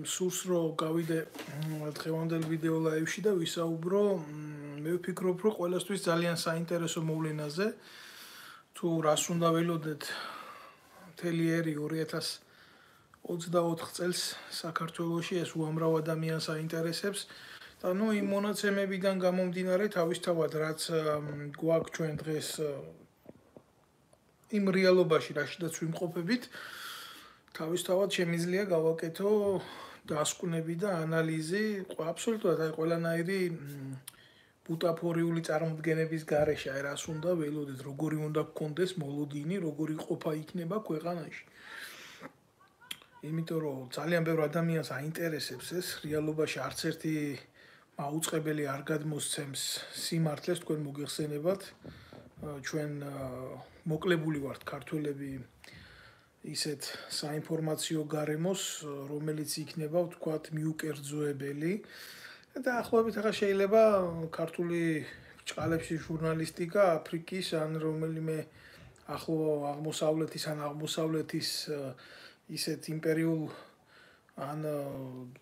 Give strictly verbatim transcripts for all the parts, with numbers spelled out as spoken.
სურს რომ გავიდე დღევანდელ ვიდეო ლაივში და ვისაუბრო მე ვფიქრობ რომ ყველასთვის ძალიან საინტერესო მოვლენაზე თუ რას უნდა ველოდეთ მთელი ერი ორი ათას ოცდაოთხ წელს საქართველოში ეს უამრავ ადამიანს აინტერესებს და ნუ იმ მონაცემებიდან გამომდინარე თავისთავად რაც გვაქვს ჩვენ დღეს იმ რეალობაში რაშიდაც ვიმყოფებით თავისთავად შემიძლია გავაკეთო დასკვნები და ანალიზი აბსოლუტურად აი ყველანაირი ბუტაფორიული წარმოდგენების გარეშე აი რას უნდა ველოდეთ როგორი უნდა გქონდეს მოლოდინი როგორი ყოფა იქნება ქვეყანაში იმიტომ რომ ძალიან ბევრ ადამიანს აინტერესებს ეს რეალობაში არც ერთი მაუწყებელი არ გადმოსცემს სიმართლეს თქვენ მოგეხსენებათ ჩვენ მოკლებული ვართ ქართველები ისეთ საინფორმაციო გარემოს რომელიც იქნება ვთქვათ მიუკერძოებელი და ახლობით ახლა შეიძლება ქართული ბრჭყალებში ჟურნალისტიკა აფრიკის ან რომელიმე ახლო აღმოსავლეთის ან აღმოსავლეთის ისეთ იმპერიულ ან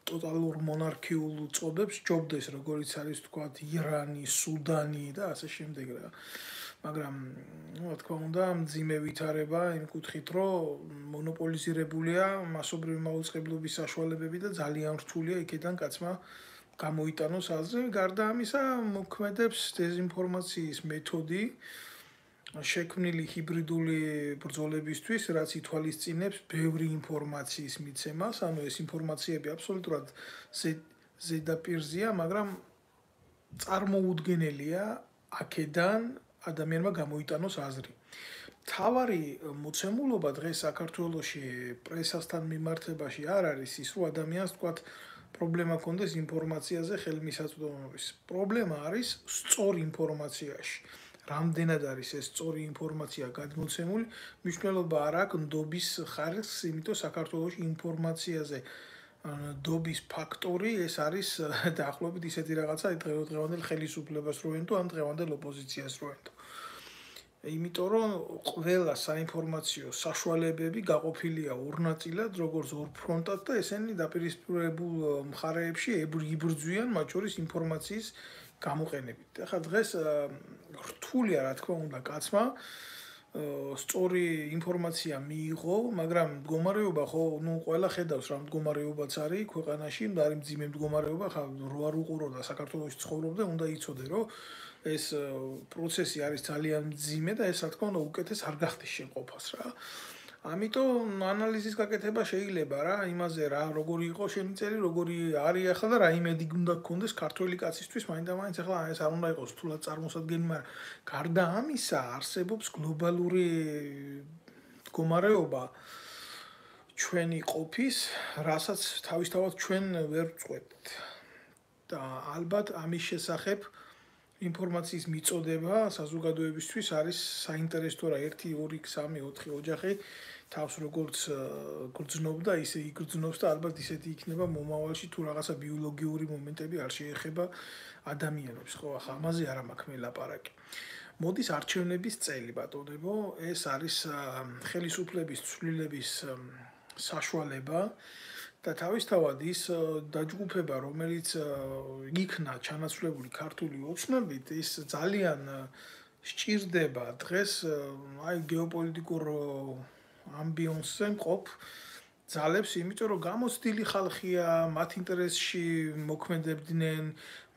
ტოტალურ მონარქიულ წოდებს ჯობდეს როგორიც არის ვთქვათ ირანი, სუდანი და ასე შემდეგ რა მაგრამ რა თქმა უნდა მძიმე ვითარება იმ კუთხით რომ მონოპოლიზირებულია მასობრივი მაუწყებლობის საშუალებები და ძალიან რთულია იქიდან კაცმა გამოიტანოს აზრი გარდა ამისა მოქმედებს დეზინფორმაციის მეთოდი შექმნილი ჰიბრიდული ბრძოლებისთვის რაც ითვალისწინებს ბევრი ინფორმაციის მიცემას ანუ ეს ინფორმაციები აბსოლუტურად ზედაპირზეა მაგრამ წარმოუდგენელია აქედან ადამიანმა გამოიტანოს აზრი. თავარი მოცემულობა დღეს საქართველოში პრესასთან მიმართებაში არ არის ის რომ ადამიანს თქვათ პრობლემა ქონდეს ინფორმაციაზე ხელმისაწვდომობის. პრობლემა არის სწორ ინფორმაციაში. რამდენად არის ეს სწორი ინფორმაცია გადმოცემული, მნიშვნელობა არ აქვს ნდობის ხარისხს, იმიტომ საქართველოში ინფორმაციაზე ნდობის ფაქტორი ეს არის დაახლოებით ისეთი რაღაცა დღევანდელ ხელისუფლებას რო ენტო ან დღევანდელ ოპოზიციას რო ენტო. იმიტომ რომ ყველა საინფორმაციო საშუალებები გაყოფილია ორ ნაწილად, როგორც ორ ფრონტად და ესენი დაპირისპირებულ მხარეებში იბრძვიან მათ შორის ინფორმაციის გამოყენებით. ახლა დღეს რთულია რა თქმა უნდა კაცმა სწორი ინფორმაცია მიიღო, მაგრამ მდგომარეობა ხო, ნუ ყველა ხედავს რა მდგომარეობაც არის ქვეყანაში, არის მძიმე მდგომარეობა, ხა რო არ უყურო და საქართველოში ცხოვრობდა, უნდა იცოდე, რომ ეს პროცესი არის ძალიან მძიმე და ეს რა თქმა უნდა უკეთეს არ გახდეს შეყოფას რა. ამიტომ ანალიზის გაკეთება შეიძლება რა, იმაზე რა, როგორი იყო შენი წელი, როგორი არის ახლა და რა იმედი უნდა გქონდეს ქართველი კაცისთვის, მაინდა-მაინც ახლა ეს არ უნდა იყოს თულად წარმოსადგენი, მაგრამ გარდა ამისა არსებობს გლობალური მდგომარეობა ჩვენი ყოფის, რასაც თავისთავად ჩვენ ვერ ვწყვეტთ. და ალბათ ამის შესახებ ინფორმაციის მიწოდება საზოგადოებისთვის არის საინტერესო რა ერთი ორი სამი ოთხი ოჯახი თავს როგორც გრძნობდა ისე იგრძნობს და ალბათ ისეთი იქნება მომავალში თუ რაღაცა ბიოლოგიური მომენტები არ შეეხება ადამიანებს ხო ახლა ამაზე არ მაქვს მე ლაპარაკი მოდის არჩევნების წელი ბატონებო ეს არის ხელისუფლების ცვლილების საშუალება და თავისთავად ის დაჯგუფება რომელიც იქნა ჩანაცვლებული ქართული ოცნებით ის ძალიან სჭირდება დღეს აი გეოპოლიტიკურ ამბიონსზე მყოფ ძალებს იმიტომ რომ გამოცდილი ხალხია მათ ინტერესში მოქმედებდნენ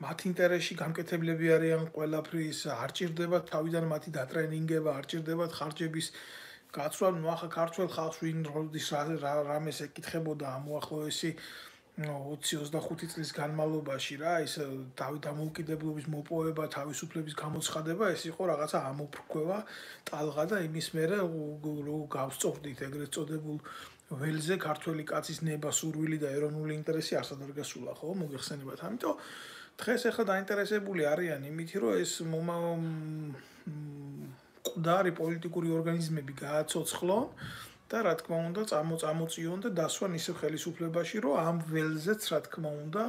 მათ ინტერესში გამკეთებლები არიან ყველაფრის არ ჭირდება თავიდან მათი დატრენინგება არ ჭირდება ხარჯების გაცვლა ნუ ახლა ქართველ ხალხს ვინ როდის რამეს ეკითხებოდა ამ უახლოესი ოცი ოცდახუთი წლის განმავლობაში რა ის დავით დამოუკიდებლობის მოპოვება თავისუფლების გამოცხადება ეს იყო რაღაცა ამოფრქვევა ტალღა და იმის მერე რო გავსწორდით ეგრეთ წოდებულ ველზე ქართველი კაცის ნება სურვილი და ეროვნული ინტერესი არსად არ გასულა ხო მოგეხსენებათ ამიტომ დღეს ახლა დაინტერესებული არიან იმით რომ ეს მკვდარი პოლიტიკური ორგანიზმები გააცოცხლონ და რა თქმა უნდა წამოწამოწიონ და დასვან ისე ხელისუფლებაში რომ ამ ველზეც რა თქმა უნდა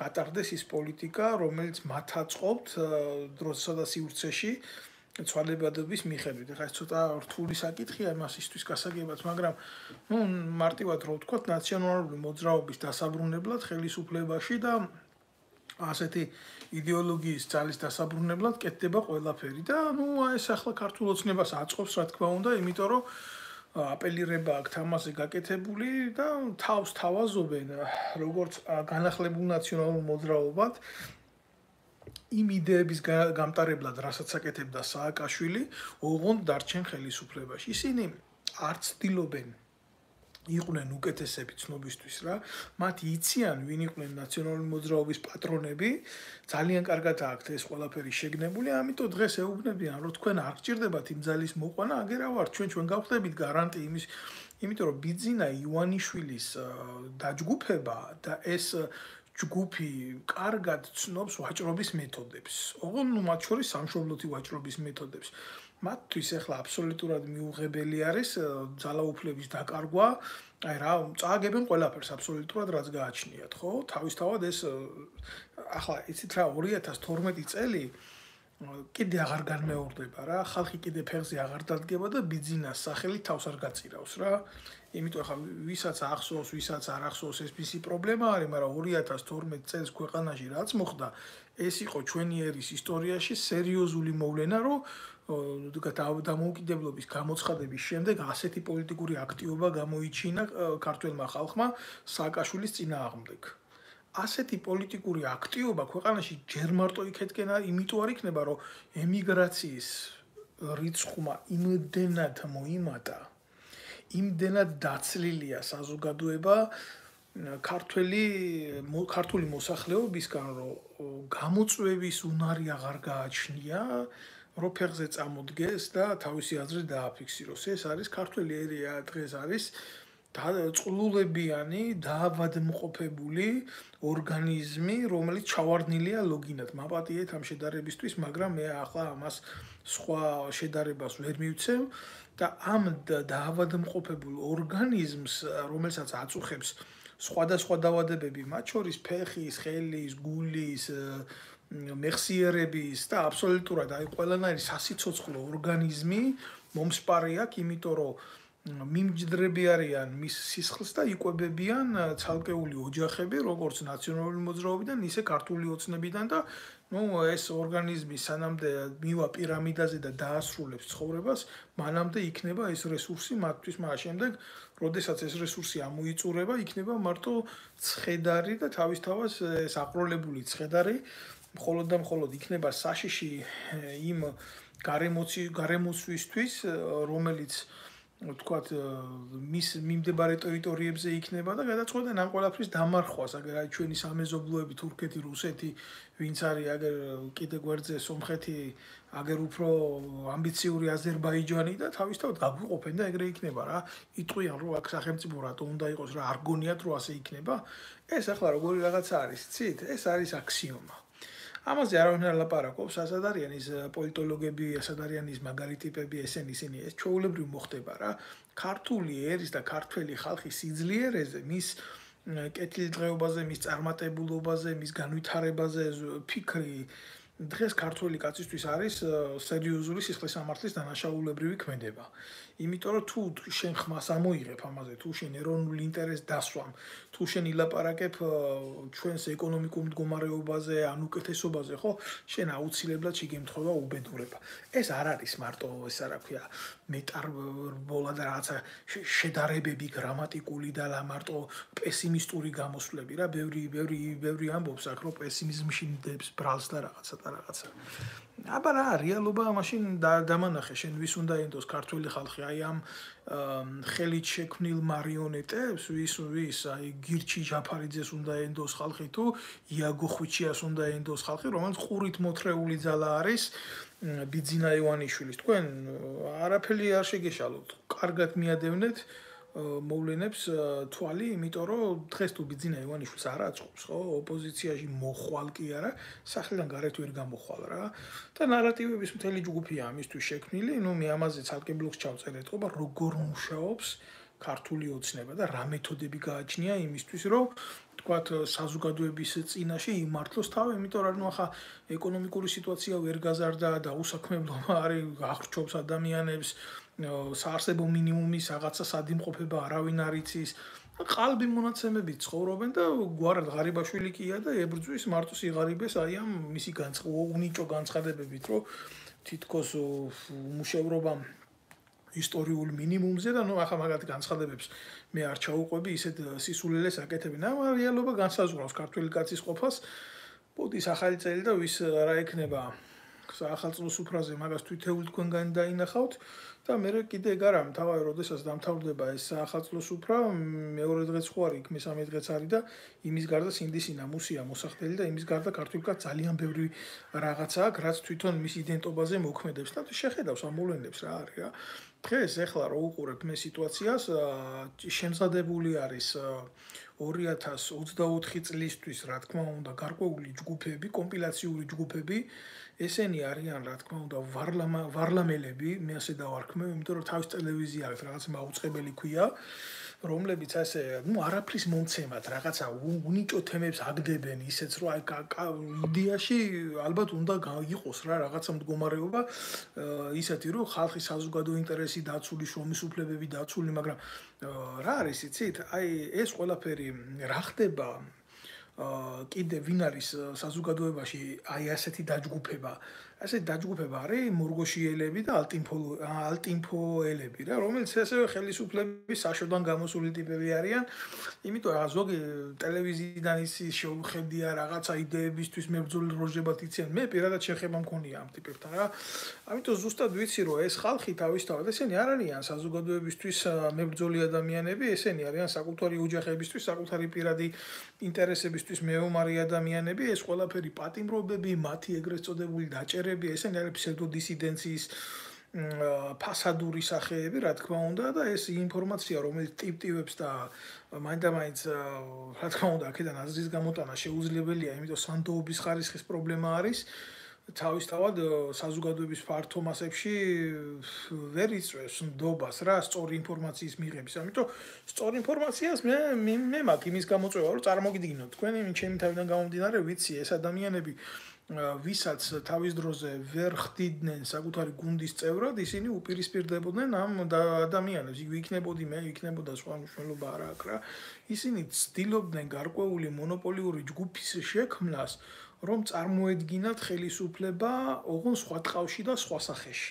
გატარდეს ის პოლიტიკა რომელიც მათ აწყობთ დროსა და სივრცეში ცვალებადობის მიხედვით. ეხლა ეს ცოტა რთული საკითხია იმასისთვის გასაგებად, მაგრამ ნუ მარტივად რო ვთქვათ, ნაციონალური მოძრაობის დასაბრუნებლად ხელისუფლებაში და ასეთი იდეოლოგიის ძალის დასაბრუნებლად კეთდება ყველაფერი და ნუ ეს ახლა ქართულ ოცნებას აწყობს, რა თქმა უნდა, იმიტომ რომ აპელირება აქვს თამაზე გაკეთებული და თავს თავაზობენ როგორც განახლებულ ნაციონალურ მოძრაობად იმ იდეების გამტარებლად, რასაც აკეთებდა სააკაშვილი, ოღონდ დარჩენ ხელისუფლებაში. ისინი არც ცდილობენ იყვნენ უკეთესები ცნობისთვის რა, მათ იციან ვინ იყვნენ ნაციონალური მოძრაობის პატრონები, ძალიან კარგად აქვთ ეს ყველაფერი შეგნებული, ამიტომ დღეს ეუბნებიან, რომ თქვენ არ გჭირდებათ იმ ძალის მოყვანა, აგერა ვარ, ჩვენ ჩვენ გავხდებით გარანტი იმის, იმიტომ რომ ბიძინა ივანიშვილის დაჯგუფება და ეს ჯგუფი კარგად ცნობს ვაჭრობის მეთოდებს. ოღონდ ნუ მათ შორის სამშობლოთი ვაჭრობის მეთოდებს. მათთვის ახლა აბსოლუტურად მიუღებელი არის ძალაუფლების დაკარგვა, აი რა, წააგებენ ყველაფერს აბსოლუტურად რაც გააჩნიათ, ხო? თავისთავად ეს ახლა იცით რა ორი ათას თორმეტი წელი კიდე აღარ განმეორდება რა, ხალხი კიდე ფეხზე აღარ დადგება და ბიძინას სახელი თავს არ გაწირავს რა. იმიტომ ახლა ვისაც ახსოვს, ვისაც არ ახსოვს ეს მისი პრობლემა არის, მაგრამ ორი ათას თორმეტი წელს ქვეყანაში რაც მოხდა, ეს იყო ჩვენი ერის ისტორიაში სერიოზული მოვლენა, რომ დამოუკიდებლობის გამოცხადების შემდეგ ასეთი პოლიტიკური აქტივობა გამოიჩინა ქართველმა ხალხმა სააკაშვილის წინააღმდეგ. ასეთი პოლიტიკური აქტივობა ქვეყანაში ჯერ მარტო იქეთკენ იმიტომ არ იქნება, რომ ემიგრაციის რიცხვმა იმდენად მოიმატა, იმდენად დაცლილია საზოგადოება ქართველი ქართული მოსახლეობისგან, რომ გამოწვევის უნარი აღარ გააჩნია, რომ ფეხზე წამოდგეს და თავისი აზრი დააფიქსიროს. ეს არის ქართველი ერია დღეს არის წყლულებიანი, დაავადმყოფებული ორგანიზმი, რომელიც ჩავარდნილია ლოგინად. მაპატიეთ ამ შედარებისთვის, მაგრამ მე ახლა ამას სხვა შედარებას ვერ მივცემ და ამ დაავადმყოფებულ ორგანიზმს, რომელსაც აწუხებს სხვადასხვა დაავადებები, მათ შორის ფეხის, ხელის, გულის, მეხსიერების და აბსოლუტურად აი ყველანაირი სასიცოცხლო ორგანიზმი მომსპარი აქვს, იმიტომ რომ მიმჯდრები არიან მის სისხლს და იკვებებიან ცალკეული ოჯახები, როგორც ნაციონალური მოძრაობიდან, ისე ქართული ოცნებიდან და ნუ ეს ორგანიზმი სანამდე მივა პირამიდაზე და დაასრულებს ცხოვრებას, მანამდე იქნება ეს რესურსი მათთვის, მაგრამ შემდეგ, როდესაც ეს რესურსი ამოიწურება, იქნება მარტო ცხედარი და თავისთავად ეს აყროლებული ცხედარი, მხოლოდ და მხოლოდ იქნება საშიში იმ გარემოცვისთვის, რომელიც ვთქვათ, მის მიმდებარე ტერიტორიებზე იქნება და გადაწყვეტენ ამ ყველაფრის დამარხვას, აგერ აი ჩვენი სამეზობლოები თურქეთი, რუსეთი, ვინც არის აგერ კიდე გვერდზე სომხეთი, აგერ უფრო ამბიციური აზერბაიჯანი და თავისთავად გაგვიყოფენ და ეგრე იქნება რა. იტყვიან რომ აქ სახელმწიფო რატო უნდა იყოს რა, არ გონიათ რომ ასე იქნება. ეს ახლა როგორი რაღაცა არის, ცით? ეს არის აქსიომა. ამაზე არავინ არ ლაპარაკობს, ასად არიან ის პოლიტოლოგები, ასად არიან ის მაგარი ტიპები, ესენი ისინი, ეს ჩვეულებრივ მოხდება რა. ქართული ერის და ქართველი ხალხის სიძლიერეზე, მის კეთილდღეობაზე, მის წარმატებულობაზე, მის განვითარებაზე ფიქრი დღეს ქართველი კაცისთვის არის სერიოზული სისხლისამართლის დანაშაულებრივი ქმედება. იმიტომ რომ თუ შენ ხმას ამოიღებ ამაზე, თუ შენ ეროვნულ ინტერესს დასვამ, თუ შენ ილაპარაკებ ჩვენს ეკონომიკურ მდგომარეობაზე, ან უკეთესობაზე, ხო, შენ აუცილებლად შეგემთხვევა უბედურება. ეს არ არის მარტო ეს რა ქვია, მეტარბოლა და რაღაცა შედარებები გრამატიკული და მარტო პესიმისტური გამოსვლები რა, ბევრი ბევრი ბევრი ამბობს აქ, რომ პესიმიზმში მდებს ბრალს და რაღაცა და რაღაცა. აბა რა, რეალობა მაშინ დამანახე, შენ ვის უნდა ენდოს ქართველი ხალხი, აი ამ ხელით შექმნილ მარიონეტებს, ვის ვის, აი გირჩი ჯაფარიძეს უნდა ენდოს ხალხი თუ იაგო ხვიჩიას უნდა ენდოს ხალხი, რომელიც ყურით მოთრეული ძალა არის ბიძინა ივანიშვილის. თქვენ არაფერი არ შეგეშალოთ, კარგად მიადევნეთ მოვლენებს თვალი, იმიტომ რომ დღეს თუ ბიძინა ივანიშვილს არ აწყობს, ხო, ოპოზიციაში მოხვალ კი არა, სახლიდან გარეთ ვერ გამოხვალ რა. და ნარატივების მთელი ჯგუფია ამისთვის შექმნილი, ნუ მე ამაზე ცალკე ბლოგს ჩავწერეთ, ხო, როგორ მუშაობს ქართული ოცნება და რა მეთოდები გააჩნია იმისთვის, რომ თქვათ საზოგადოების წინაშე იმართლოს თავი, იმიტომ რომ ახლა ეკონომიკური სიტუაცია ვერ გაზარდა და უსაქმებლობა არის აღრჩობს ადამიანებს, საარსებო მინიმუმის რაღაცა სადიმყოფება არავინ არ იცის. ყალბი მონაცემები ცხოვრობენ და გვარად ღარიბაშვილი კია და ებრძვის მარტოს იღარიბეს აი ამ მისი უნიჭო განცხადებებით, რომ თითქოს უმუშევრობა ისტორიულ მინიმუმზე და ნუ ახლა მაგათ განცხადებებს მე არ ჩაუყვები, ისეთ სისულელეს აკეთებენ. ამ რეალობა განსაზღვრავს ქართული კაცის ყოფას. პუტის ახალი წელი და ვის რა ექნება საახალწლო სუფრაზე მაგას თვითეულ თქვენგანი დაინახავთ და მე კიდე ეგ არა მთავარი, როდესაც დამთავრდება ეს საახალწლო სუფრა, მეორე დღეც ხო არის, იქ მესამე დღეც არის და იმის გარდა სინდისინა, მუსია, მოსახდელი და იმის გარდა ქართული კაცს ძალიან ბევრი რაღაცა აქვს, რაც თვითონ მის იდენტობაზე მოქმედებს და შეხედავს ამ მოვლენებს რა არის რა. დღეს ეხლა რო უყურებ მე სიტუაციას, შემზადებული არის ორი ათას ოცდაოთხი წლისთვის, რა თქმა უნდა, გარკვეული ჯგუფები, კომპილაციური ჯგუფები, ესენი არიან, რა თქმა უნდა, ვარლამელები, მე ასე დავარქმევ, იმიტომ რომ თავის ტელევიზია აქვს, რაღაც მაუწყებელი ქვია, რომლებიც ასე, ну, არაფრის მომცემად, რაღაცა უნიჭო თემებს აგდებენ, ისეც რომ აი იდეაში ალბათ უნდა გაიყოს რა რაღაცა მდგომარეობა, ისეთი რომ ხალხის საზოგადო ინტერესი დაცული, შრომის უფლებები დაცული, მაგრამ რა არის იცით? აი ეს ყველაფერი რა ხდება კიდე ვინ არის საზოგადოებაში აი ასეთი დაჯგუფება ასეთი დაჯგუფება არის მორგოშიელები და ალტინფოელები რა რომელიც ასევე ხელისუფლების საშოდან გამოსული ტიპები არიან იმიტომ რომ ზოგი ტელევიზიიდან ის შეუხედია რაღაცა იდეებისთვის მებრძოლი როჟებად იციან მე პირადად შეხება მქონია ამ ტიპებთან რა ამიტომ ზუსტად ვიცი რომ ეს ხალხი თავისთავად ესენი არ არიან საზოგადოებისთვის მებრძოლი ადამიანები ესენი არიან საკუთარი ოჯახებისთვის საკუთარი პირადი ინტერესებისთვის მეომარი ადამიანები ეს ყველაფერი პატიმრობები მათი ეგრეთ წოდებული დაჭერები ესენი არის ფსევდოდისიდენციის ფასადური სახეები რა თქმა უნდა და ეს ინფორმაცია რომელიც ტიპ-ტიპებს და მაინდა-მაინც რა თქმა უნდა აქედან აზრის გამოტანა შეუძლებელია იმიტომ სანდოობის ხარისხის პრობლემა არის თავისთავად საზოგადოების ფართო მასებში ვერ იწვევს ნდობას რა სწორი ინფორმაციის მიღების. ამიტომ სწორი ინფორმაციას მე მე მაქვს იმის გამოწვევა რომ წარმოგიდგინოთ თქვენ იმ ჩემი თავიდან გამომდინარე ვიცი ეს ადამიანები ვისაც თავის დროზე ვერ ხდიდნენ საკუთარი გუნდის წევრად ისინი უპირისპირდებოდნენ ამ ადამიანებს იქ ვიქნებოდი მე იქნებოდა სხვა მნიშვნელობა არ აქვს რა ისინი ცდილობდნენ გარკვეული მონოპოლიური ჯგუფის შექმნას რომ წარმოედგინათ ხელისუფლება ოღონდ სხვა ტყავში და სხვა სახეში.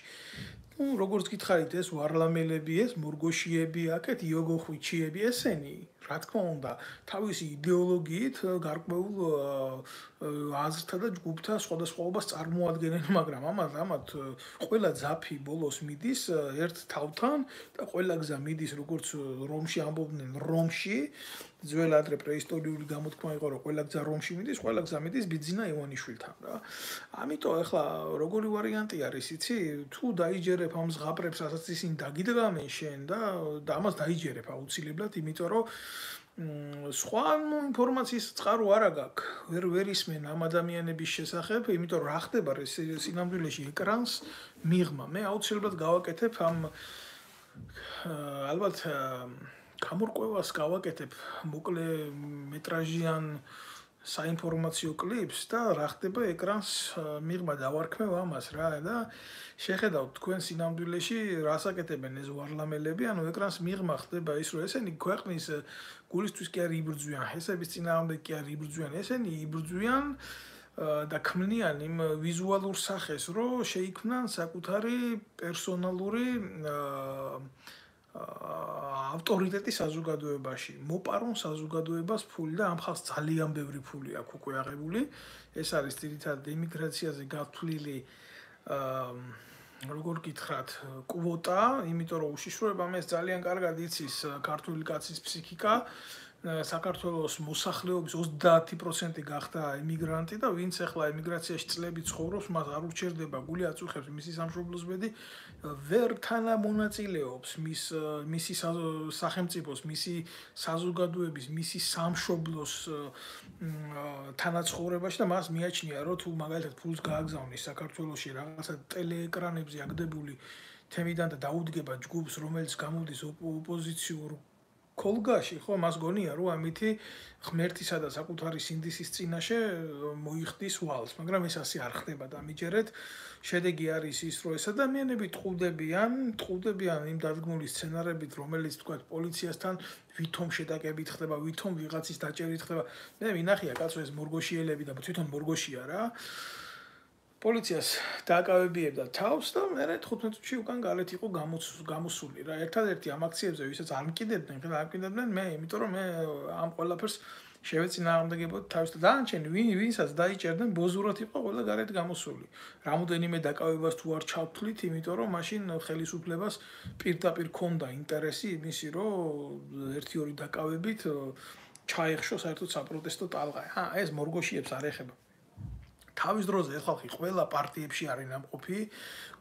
ну, როგორც გითხარით, ეს ვარლამელები, ეს მორგოშიები, აქეთ იოგოხვიჩიები, ესენი, რა თქმა უნდა, თავისი იდეოლოგიით გარკვეულ აზრთა და ჯგუფთა სხვადასხვაობას წარმოადგენენ, მაგრამ ამათ ამათ ყველა ძაფი ბოლოს მიდის ერთ თავთან და ყველა გზა მიდის, როგორც რომში ამბობდნენ, რომში ძველ ადრე პრეისტორიული გამოთქმა იყო რომ ყველა გზა რომში მიდის, ყველა გზა მიდის ბიძინა ივანიშვილთან რა. ამიტომ ახლა როგორი ვარიანტი არის, იცი? თუ დაიჯერებ ამ ზღაპრებს, რასაც ისინი დაგიდგამენ შენ და ამას დაიჯერებ აუცილებლად, იმიტომ რომ სხვა ინფორმაციის წყარო არ აქვს. ვერ ვერ ისმენ ამ ადამიანების შესახებ, იმიტომ რომ რა ხდება სინამდვილეში ეკრანს მიღმა. მე აუცილებლად გავაკეთებ ამ ალბათ გამორკვევას გავაკეთებ მოკლე მეტრაჟიან საინფორმაციო კლიპს და რა ხდება ეკრანს მიღმა დავარქმევ ამას რა და შეხედავთ თქვენ სინამდვილეში რას აკეთებენ ეს ვარლამელები ანუ ეკრანს მიღმა ხდება ის რომ ესენი ქვეყნის გულისთვის კი არ იბრძვიან ჰესების წინააღმდეგ კი არ იბრძვიან ესენი იბრძვიან და ქმნიან იმ ვიზუალურ სახეს რომ შეიქმნან საკუთარი პერსონალური ავტორიტეტი საზოგადოებაში. მოპარონ საზოგადოებას ფული და ამ ხალხს ძალიან ბევრი ფული აქვს უკვე აღებული. ეს არის ძირითადად იმიგრაციაზე გათვლილი როგორ გითხრათ, კვოტა, იმიტომ რომ უშიშროებამ ეს ძალიან კარგად იცის ქართული კაცის ფსიქიკა. საქართველოს მოსახლეობის ოცდაათი პროცენტი გახდა ემიგრანტი და ვინც ახლა ემიგრაციაში წლები ცხოვრობს, მას არ ურჩერდება გული აწუხებს მისი სამშობლოს ბედი, ვერ თანამონაწილეობს მის მისი სახელმწიფოს, მისი საზოგადოების, მისი სამშობლოს თანაცხოვრებაში და მას მიაჩნია, რომ თუ მაგალითად ფულს გააგზავნის საქართველოში რაღაცა ტელეეკრანებზე აგდებული თემიდან და დაუდგება ჯგუფს, რომელიც გამოდის ოპოზიციურ კოლგაში, ხო, მას გონია, რომ ამითი ღმერთისა და საკუთარი სინდისის წინაშე მოიხდის ვალს, მაგრამ ეს ასე არ ხდება და ამიჯერეთ შედეგი არის ის, რომ ეს ადამიანები ტყუდებიან, ტყუდებიან იმ დადგმული სცენარებით, რომელიც თქვა პოლიციასთან ვითომ შეტაკებით ხდება, ვითომ ვიღაცის დაჭერით ხდება. მე მინახია კაცო ეს მორგოშიელები და თვითონ მორგოშია რა. პოლიციას დააკავებიებდა თავს და მე თხუთმეტ წუთში უკან გარეთ იყო გამოსული რა. ერთადერთი ამ აქციებზე ვისაც არ მკიდებდნენ, ხა არ მკიდებდნენ მე, იმიტომ რომ მე ამ ყველაფერს შევეწინააღმდეგებოდი თავის და დანარჩენი ვინ ვინსაც დაიჭერდნენ ბოზურად იყო ყველა გარეთ გამოსული. რამოდენიმე დაკავებას თუ არ ჩავთვლით, იმიტომ რომ მაშინ ხელისუფლებას პირდაპირ ქონდა ინტერესი იმისი, რომ ერთი ორი დაკავებით ჩაეხშო საერთოდ საპროტესტო ტალღა. აა ეს მორგოშიებს არ ეხება. თავის დროზე ხალხი ყველა პარტიებში არის ნამყოფი,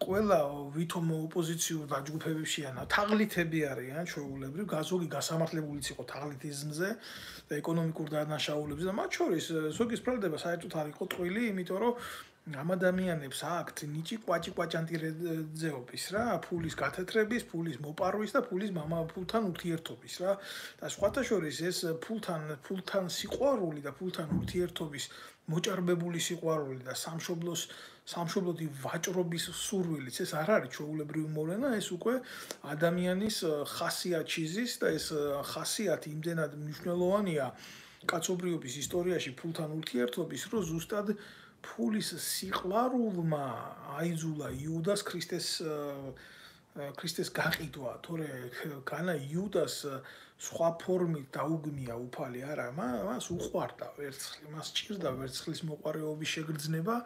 ყველა ვითომ ოპოზიციურ დაჯგუფებებშია თაღლითები არიან ჩვეულებრივ, გაზოგი გასამართლებულიც იყო თაღლითიზმზე და ეკონომიკურ დანაშაულებზე და მათ შორის ზოგის ბრალდება საერთოდ არ იყო ტყვილი, იმიტომ რომ ამ ადამიანებს აქვთ ნიჭი კვაჭი კვაჭანტირეძეობის რა, ფულის გათეთრების, ფულის მოპარვის და ფულის მამა ფულთან ურთიერთობის რა. და სხვათა შორის ეს ფულთან ფულთან სიყვარული და ფულთან ურთიერთობის მოჭარბებული სიყვარული და სამშობლოს სამშობლოთი ვაჭრობის სურვილიც ეს არ არის ჩვეულებრივი მოვლენა, ეს უკვე ადამიანის ხასიათი ზის და ეს ხასიათი იმდენად მნიშვნელოვანია კაცობრიობის ისტორიაში ფულთან ურთიერთობის, რომ ზუსტად ფულის სიყვარულმა აიძულა იუდას ქრისტეს ქრისტეს გაყიდვა, თორე განა იუდას სხვა ფორმით დაუგმია უფალი არა, მას უყვარდა ვერცხლი, მას ჭირდა ვერცხლის მოყვარეობის შეგრძნება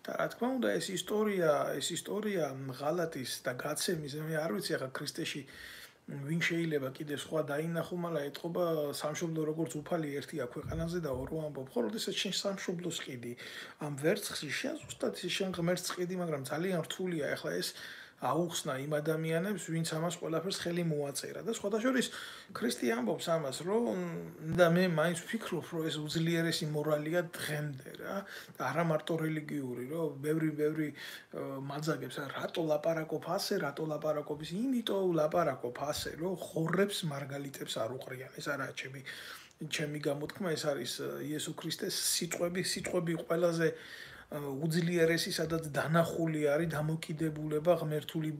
და რა თქმა უნდა ეს ისტორია, ეს ისტორია ღალატის და გაცემის, მე არ ვიცი ახლა ქრისტეში ვინ შეიძლება კიდე სხვა დაინახო, მაგრამ ეთყობა სამშობლო როგორც უფალი ერთია ქვეყანაზე და ორო ამბობ, ხო, როდესაც შენ სამშობლოს ყიდი ამ ვერცხლში, შენ ზუსტად შენ ღმერთს ყიდი, მაგრამ ძალიან რთულია ახლა ეს აუხსნა იმ ადამიანებს, ვინც ამას ყველაფერს ხელი მოაწერა და სხვათა შორის ქრისტე ამბობს ამას, რომ და მე მაინც ვფიქრობ, რომ ეს უძლიერესი მორალია დღემდე რა და არა მარტო რელიგიური, რომ ბევრი ბევრი მაძაგებს, რატო ლაპარაკობ ასე, რატო ლაპარაკობს, იმიტომ ლაპარაკობ ასე, რომ ხორებს მარგალიტებს არ უყრიან. ეს არაა ჩემი ჩემი გამოთქმა, ეს არის იესო ქრისტეს სიტყვები, სიტყვები ყველაზე უძლიერესი, სადაც დანახული არის დამოკიდებულება ღმერთული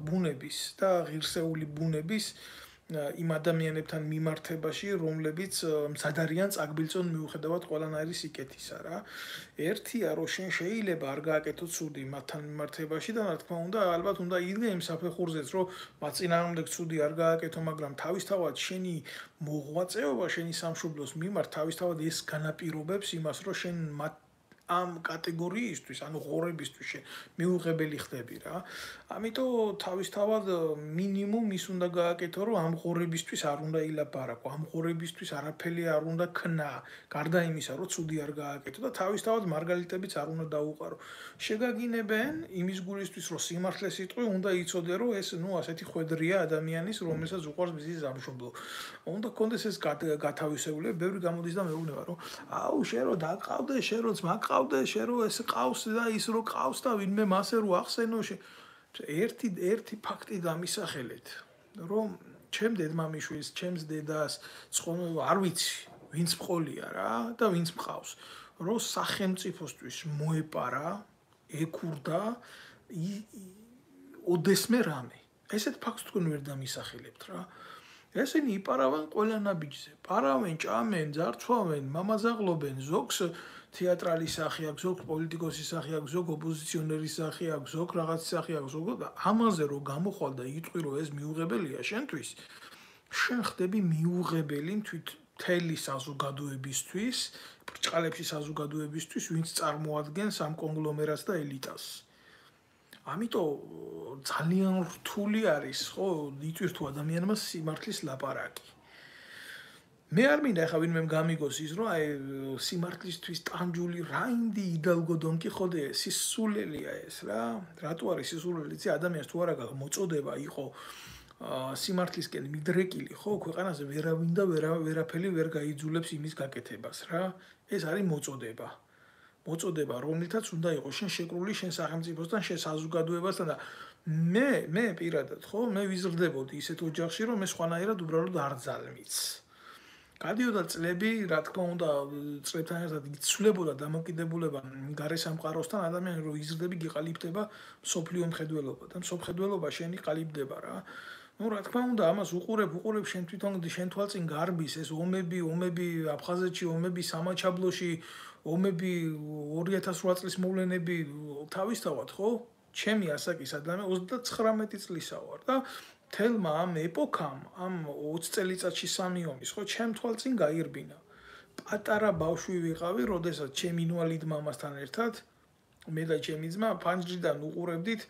ბუნების და ღირსეული ბუნების იმ ადამიანებთან მიმართებაში, რომლებიც მცად არიან წაგბილწონ მიუხედავად ყველანაირი სიკეთისა რა. ერთია, რომ შენ შეიძლება არ გააკეთო ცუდი მათთან მიმართებაში და რა თქმა უნდა, ალბათ უნდა იდგე იმ საფეხურზეც, რომ მათ წინააღმდეგ ცუდი არ გააკეთო, მაგრამ თავისთავად შენი მოღვაწეობა, შენი სამშობლოს მიმართ თავისთავად ეს განაპირობებს იმას, რომ შენ მათ ამ კატეგორიისთვის, ანუ ღორებისთვის მიუღებელი ხდები რა. ამიტომ თავისთავად მინიმუმ ის უნდა გააკეთო, რომ ამ ღორებისთვის არ უნდა ილაპარაკო, ამ ღორებისთვის არაფერი არ უნდა ქნა, გარდა იმისა, რომ ცუდი არ გააკეთო და თავისთავად მარგალიტებიც არ უნდა დაუყარო. შეგაგინებენ იმის გულისთვის, რომ სიმართლე სიტყვი უნდა იცოდე, რომ ეს ნუ ასეთი ხვედრია ადამიანის, რომელსაც უყვარს მის სამშობლო. უნდა კონდეს ეს გათავისებულება, ბევრი გამოდის და მეუბნება, რომ აუ შენ რო დაკავდე, შენ როც მაკ ყავდე, შენ რო ეს ყავს და ის რო ყავს და ვინმე მასე რო ახსენო, ერთი ერთი ფაქტი დამისახელეთ, რომ ჩემ დედმამიშვილს, ჩემს დედას, არ ვიცი, ვინც მყოლია რა და ვინც მყავს, რომ სახელმწიფოსთვის მოეპარა, ეკურდა ოდესმე რამე. ესეთ ფაქტს თქვენ ვერ დამისახელებთ რა. ესენი იპარავენ ყველა ნაბიჯზე. პარავენ, ჭამენ, ძარცვავენ, მამაზაღლობენ, ზოგს თეატრალის სახე აქვს, ზოგ პოლიტიკოსის სახე აქვს, ზოგ ოპოზიციონერის სახე აქვს, ზოგ რაღაც სახე აქვს, ზოგ და ამაზე რო გამოხვალ და იტყვი რომ ეს მიუღებელია შენთვის, შენ ხდები მიუღებელი თვით მთელი საზოგადოებისთვის, ბრჭყალებში საზოგადოებისთვის, ვინც წარმოადგენს ამ კონგლომერატს და ელიტას. ამიტომ ძალიან რთული არის, ხო, იტვირ თუ ადამიანმა სიმართლის ლაპარაკი. მე არ მინდა ახლა ვინმე გამიგოს ის რომ აი სიმართლისთვის ტანჯული რაინდი იდალგო დონ კიხოტე სისულელია ეს რა რატო არის სისულელი იცი ადამიანს თუ არა მოწოდება იყო სიმართლისკენ მიდრეკილი ხო ქვეყანაზე ვერავინ და ვერაფერი ვერ გაიძულებს იმის გაკეთებას რა ეს არის მოწოდება მოწოდება, რომელთაც უნდა იყოს შენ შეკრული შენ სახელმწიფოსთან, შენ საზოგადოებასთან და მე მე პირადად ხო, მე ვიზრდებოდი ისეთ ოჯახში, რომ მე სხვანაირად უბრალოდ არ ძალმიც. გადიოდა წლები, რა თქმა უნდა, წლებთან ერთად იცვლებოდა დამოკიდებულება გარე სამყაროსთან, ადამიანი რო იზრდები, გიყალიბდება სოფლიო მხედველობა და სოფხედველობა შენი ყალიბდება რა. Ну, რა თქმა უნდა, ამას უყურებ, უყურებ შენ თვითონ შენ თვალწინ გარბის ეს ომები, ომები აფხაზეთში, ომები სამაჩაბლოში, ომები ორი ათას რვა წლის მოვლენები თავისთავად, ხო? ჩემი ასაკის ადამიანი ოცდაცხრამეტი წლისა ვარ და თელმა ამ ეპოქამ, ამ ოცი წელიწადში სამი ომის, ხო, ჩემ თვალწინ გაირბინა. პატარა ბავშვი ვიყავი, როდესაც ჩემ ინვალიდ მამასთან ერთად მე და ჩემი ძმა ფანჯრიდან უყურებდით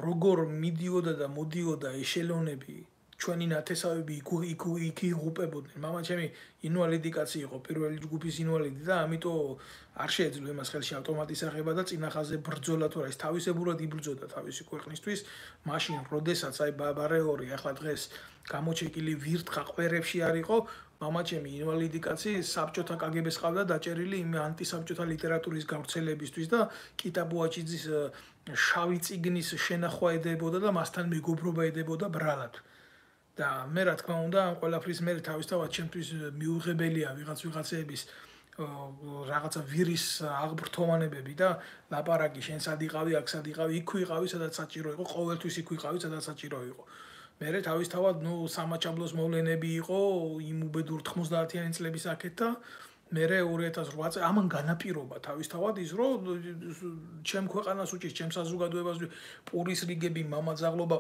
როგორ მიდიოდა და მოდიოდა ეშელონები ჩვენი ნათესავები იქ იქ იღუპებოდნენ. მამა ჩემი ინვალიდი კაცი იყო, პირველი ჯგუფის ინვალიდი და ამიტომ არ შეეძლო იმას ხელში ავტომატის აღება და წინახაზე ბრძოლა თუ რა ის თავისებურად იბრძოდა თავისი ქვეყნისთვის. მაშინ როდესაც აი ბაბარეორი ახლა დღეს გამოჩეკილი ვირთხა ყვერებში არ იყო, მამა ჩემი ინვალიდი კაცი საბჭოთა კაგებეს ყავდა დაჭერილი იმ ანტისაბჭოთა ლიტერატურის გავრცელებისთვის და კიტაბუაჩიძის შავი წიგნის შენახვა ედებოდა და მასთან მეგობრობა ედებოდა ბრალად. და მე რა თქმა უნდა ამ ყველაფრის მე თავისთავად ჩემთვის მიუღებელია ვიღაც ვიღაცების რაღაცა ვირის აღბრთოვანებები და ლაპარაკი შენ სად იყავი, აქ სად იყავი, იქ ვიყავი, სადაც საჭირო იყო, ყოველთვის იქ ვიყავი, სადაც საჭირო იყო. მე თავისთავად ნუ სამაჩაბლოს მოვლენები იყო იმ უბედურ თხმოცდაათიანი წლების აქეთ და მე ორი ათას რვა წელი ამან განაპირობა თავისთავად ის რომ ჩემ ქვეყანას უჭირს, ჩემ საზოგადოებას პურის რიგები, მამაძაღლობა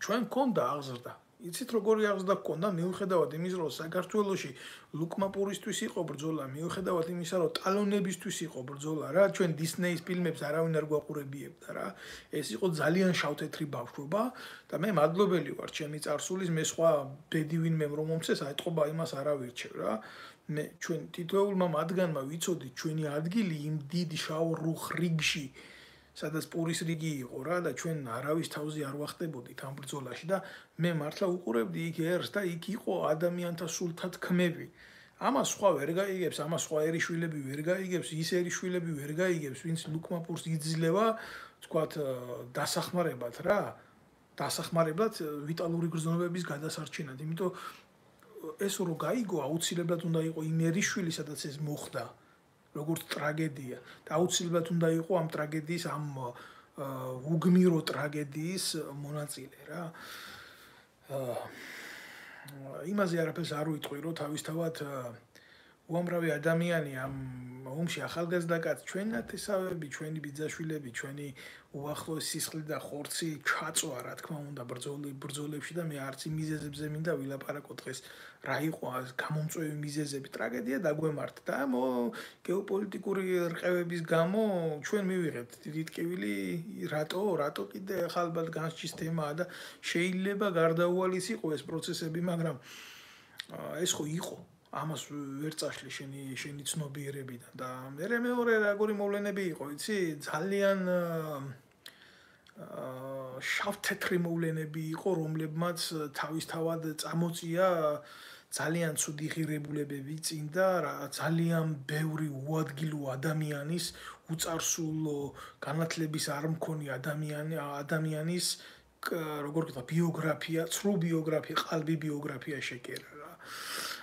ჩვენ გქონდა აღზრდა. იცით როგორი აღზრდა გქონდა მიუხედავად იმის რომ საქართველოში ლუკმა პურისთვის იყო ბრძოლა, მიუხედავად იმისა რომ ტალონებისთვის იყო ბრძოლა რა, ჩვენ დისნეის ფილმებს არავინ არ გვაყურებიებდა რა. ეს იყო ძალიან შავთეთრი ბავშვობა და მე მადლობელი ვარ ჩემი წარსულის, მე სხვა ბედი ვინმე რომ მომცეს აიტყობა იმას არ ავირჩევ რა. მე ჩვენ თითოეულმა მათგანმა ვიცოდით ჩვენი ადგილი იმ დიდ შავ რუხ რიგში სადაც პურის რიგი იყო რა და ჩვენ არავის თავზე არ ვახტებოდით ამ ბრძოლაში და მე მართლა უყურებდი იქ ერს და იქ იყო ადამიანთა სულთა თქმები. ამას სხვა ვერ გაიგებს, ამას სხვა ერიშვილები ვერ გაიგებს, ის ერიშვილები ვერ გაიგებს, ვინც ლუკმა პურს იძლევა, თქვათ, დასახმარებად რა, დასახმარებლად ვიტალური გრძნობების გადასარჩენად. იმიტომ ეს რო გაიგო, აუცილებლად უნდა იყო იმერიშვილი, სადაც ეს მოხდა. როგორც ტრაგედია და აუცილებლად უნდა იყო ამ ტრაგედიის ამ უგმირო ტრაგედიის მონაწილე რა. იმაზე არაფერს არ ვიტყვი რომ თავისთავად უამრავი ადამიანი ამ ომში ახალგაზრდა კაცი ჩვენი ნათესავები, ჩვენი ბიძაშვილები, ჩვენი უახლოესი სისხლი და ხორცი ჩაწვა რა თქმა უნდა ბრძოლებში და მე არც იმ მიზეზებზე მინდა ვილაპარაკო დღეს რა იყო გამომწვევი მიზეზები, ტრაგედია დაგვემართ და გეოპოლიტიკური რყევების გამო ჩვენ მივიღებთ დიდი ტკივილი რატო რატო კიდე ახლა ალბათ განსჯის თემაა და შეიძლება გარდაუვალის იყო ეს პროცესები, მაგრამ ეს ხო იყო ამას ვერ წაშლი შენი შენი ცნობიერებიდან და მე მეორე როგორი მოვლენები იყო, იცი, ძალიან შავთეთრი მოვლენები იყო, რომლებმაც თავისთავად წამოწია ძალიან ცუდი ღირებულებები წინ და ძალიან ბევრი უადგილო ადამიანის უწარსულო განათლების არ მქონი ადამიანი ადამიანის როგორ ვთქვა ბიოგრაფია, ცრუ ბიოგრაფია, ყალბი ბიოგრაფია შეკერა.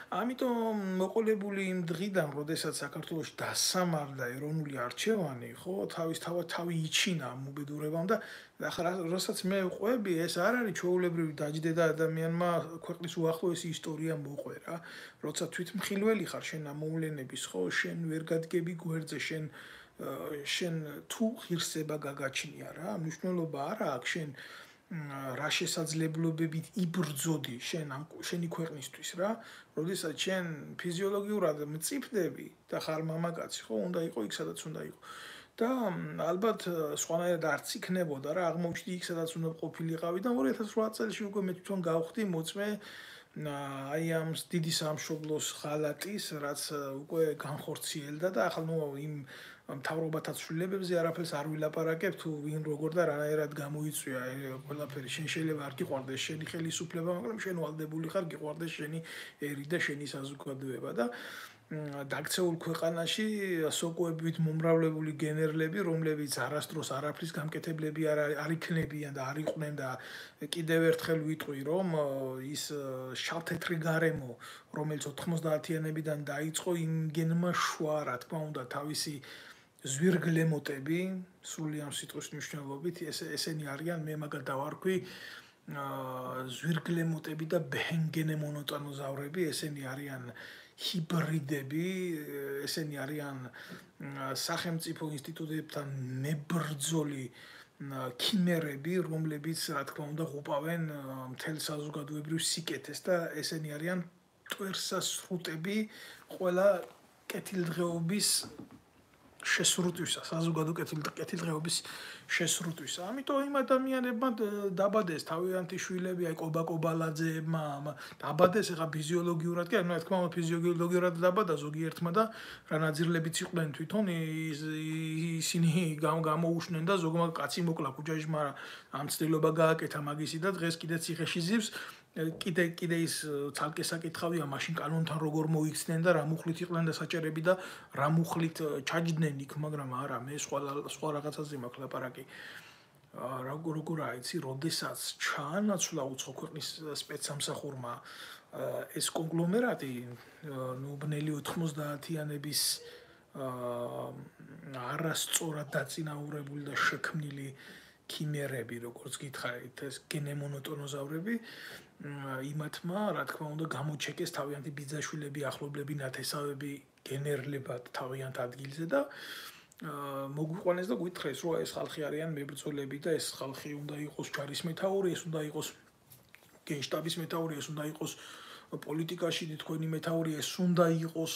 ამიტომ მოყოლებული იმ დღიდან, როდესაც საქართველოში დასამარდა ეროვნული არჩევანი, ხო, თავისთავად თავი იჩინა ამ უბედურებამ და ახლა რასაც მე ვყვები, ეს არ არის ჩვეულებრივი დაჯდედა ადამიანმა ქვეყნის უახლოესი ისტორია მოყვე რა. როცა თვითმხილველი ხარ შენ ამ მოვლენების, ხო, შენ ვერ გადგები გვერდზე, შენ შენ თუ ღირსება გაგაჩნია რა, მნიშვნელობა არა აქვს შენ რა შესაძლებლობებით იბრძოდი შენ ამ შენი ქვეყნისთვის რა, როდესაც შენ ფიზიოლოგიურად მწიფდები და ხარ მამაკაცი, ხო, უნდა იყო იქ სადაც უნდა იყო. და ალბათ სხვანაირად არც იქნებოდა რა, აღმოჩნდი იქ სადაც უნდა ყოფილიყავი და ორი ათას რვა წელს უკვე მე თვითონ გავხდი მოწმე აი ამ დიდი სამშობლოს ხალატის, რაც უკვე განხორციელდა და ახლა ნუ იმ მთავრობათა ცვლილებებზე არაფერს არ ვილაპარაკებ, თუ ვინ როგორ და რანაირად გამოიწვია ყველაფერი. შენ შეიძლება არ გიყვარდეს შენი ხელისუფლება, მაგრამ შენ ვალდებული ხარ გიყვარდეს შენი ერი და შენი საზოგადოება და დაქცეულ ქვეყანაში სოკოებით მომრავლებული გენერლები, რომლებიც არასდროს არაფრის გამკეთებლები არ იქნებიან და არ იყვნენ და კიდევ ერთხელ ვიტყვი, რომ ის შავთეთრი გარემო, რომელიც ოთხმოცდაათიანებიდან დაიწყო, იმგენმა შვა, რა თქმა უნდა, თავისი ზვირგლემოტები, სრული ამ სიტყვის მნიშვნელობით, ესენი არიან, მე მაგათ დავარქვი, ზვირგლემოტები და ბენგენემონოტანოზავრები, ესენი არიან ჰიბრიდები, ესენი არიან სახელმწიფო ინსტიტუტებთან მებრძოლი ქიმერები, რომლებიც, რა თქმა უნდა, ღუპავენ მთელ საზოგადოებრივ სიკეთეს და ესენი არიან მტვერსასრუტები ყველა კეთილდღეობის შესრუტვისა, საზოგადო კეთილდღეობის შესრუტვისა. ამიტომ იმ ადამიანებმა დაბადეს თავიანთი შვილები, აი კობა-კობალაძეებმა, დაბადეს ეხა ფიზიოლოგიურად კი, რა თქმა უნდა ფიზიოლოგიურად დაბადა ზოგიერთმა და რა ნაძირლებიც იყვნენ თვითონ ისინი გამოუშნენ და ზოგმა კაცი მოკლა კუჯაში, მაგრამ ამ ცდილობა გააკეთა მაგისი და დღეს კიდე ციხეში ზივს. კიდე კიდე ის ცალკე საკითხავია მაშინ კანონთან როგორ მოიქცნენ და რა მუხლით იყვნენ და საჭერები და რა მუხლით ჩაჯდნენ იქ, მაგრამ არა, მე სხვა სხვა რაღაცაზე მაქვს ლაპარაკი. როგორ როგორ აიცი, როდესაც ჩაანაცვლა უცხო ქვეყნის სპეცსამსახურმა ეს კონგლომერატი, ნუ ბნელი ოთხმოცდაათიანების არასწორად დაწინაურებული და შექმნილი ქიმერები, როგორც გითხარით, ეს გენემონოტონოზავრები, იმათმა, რა თქმა უნდა, გამოჩეკეს თავიანთი ბიძაშვილები, ახლობლები, ნათესავები გენერლებად თავიანთ ადგილზე და მოგვიყვანეს და გვითხრეს, რომ ეს ხალხი არიან მებრძოლები და ეს ხალხი უნდა იყოს ჯარის მეთაური, ეს უნდა იყოს გენშტაბის მეთაური, ეს უნდა იყოს პოლიტიკაში თქვენი მეთაური, ეს უნდა იყოს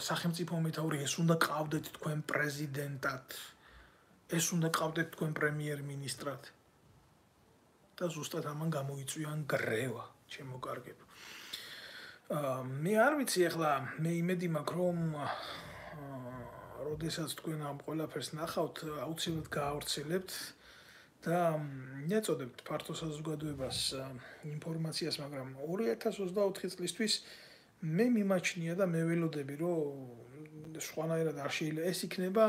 სახელმწიფო მეთაური, ეს უნდა ყავდეთ თქვენ პრეზიდენტად. ეს უნდა ყავდეთ თქვენ პრემიერ-მინისტრად და ზუსტად ამან გამოიწვია გრევა, ჩემო კარგებო. მე არ ვიცი ახლა, მე იმედი მაქვს, რომ როდესაც თქვენ ამ ყველაფერს ნახავთ, აუცილებლად გაავრცელებთ და ეწოდებთ ფართო საზოგადოებას ინფორმაციას, მაგრამ ორი ათას ოცდაოთხი წლისთვის მე მიმაჩნია და მე ველოდები, რომ სხვანაირად არ შეიძლება ეს იქნება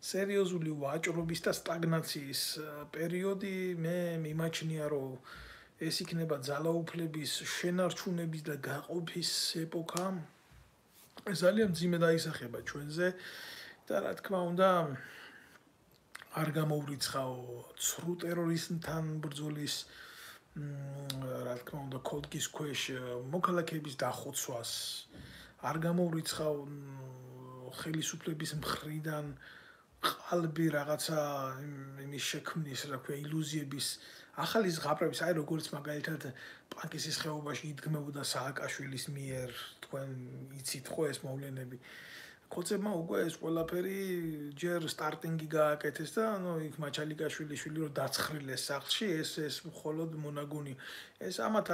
სერიოზული ვაჭრობის და სტაგნაციის პერიოდი. მე მიმაჩნია, რომ ეს იქნება ძალაუფლების შენარჩუნების და გაყოფის ეპოქა. ძალიან მძიმე დაისახება ჩვენზე და რა თქმა უნდა არ გამოვრიცხაო ცრუ ტერორიზმთან ბრძოლის, რა თქმა უნდა კოდკის ქვეშ მოქალაქეების დახოცვას, არ გამოვრიცხაო ხელისუფლების მხრიდან ყალბი რაღაცა იმის შექმნის, რა ქვია, ილუზიების ახალი ზღაპრების, აი როგორც მაგალითად პანკისის ხეობაში იდგმებოდა სააკაშვილის მიერ, თქვენ იცით ხო ეს მოვლენები. კოცებმა უკვე ეს ყველაფერი ჯერ სტარტინგი გააკეთეს და ნუ იქ მაჩალიკაშვილი შვილი რომ დაცხრილეს სახლში, ეს ეს მხოლოდ მონაგონი. ეს ამათ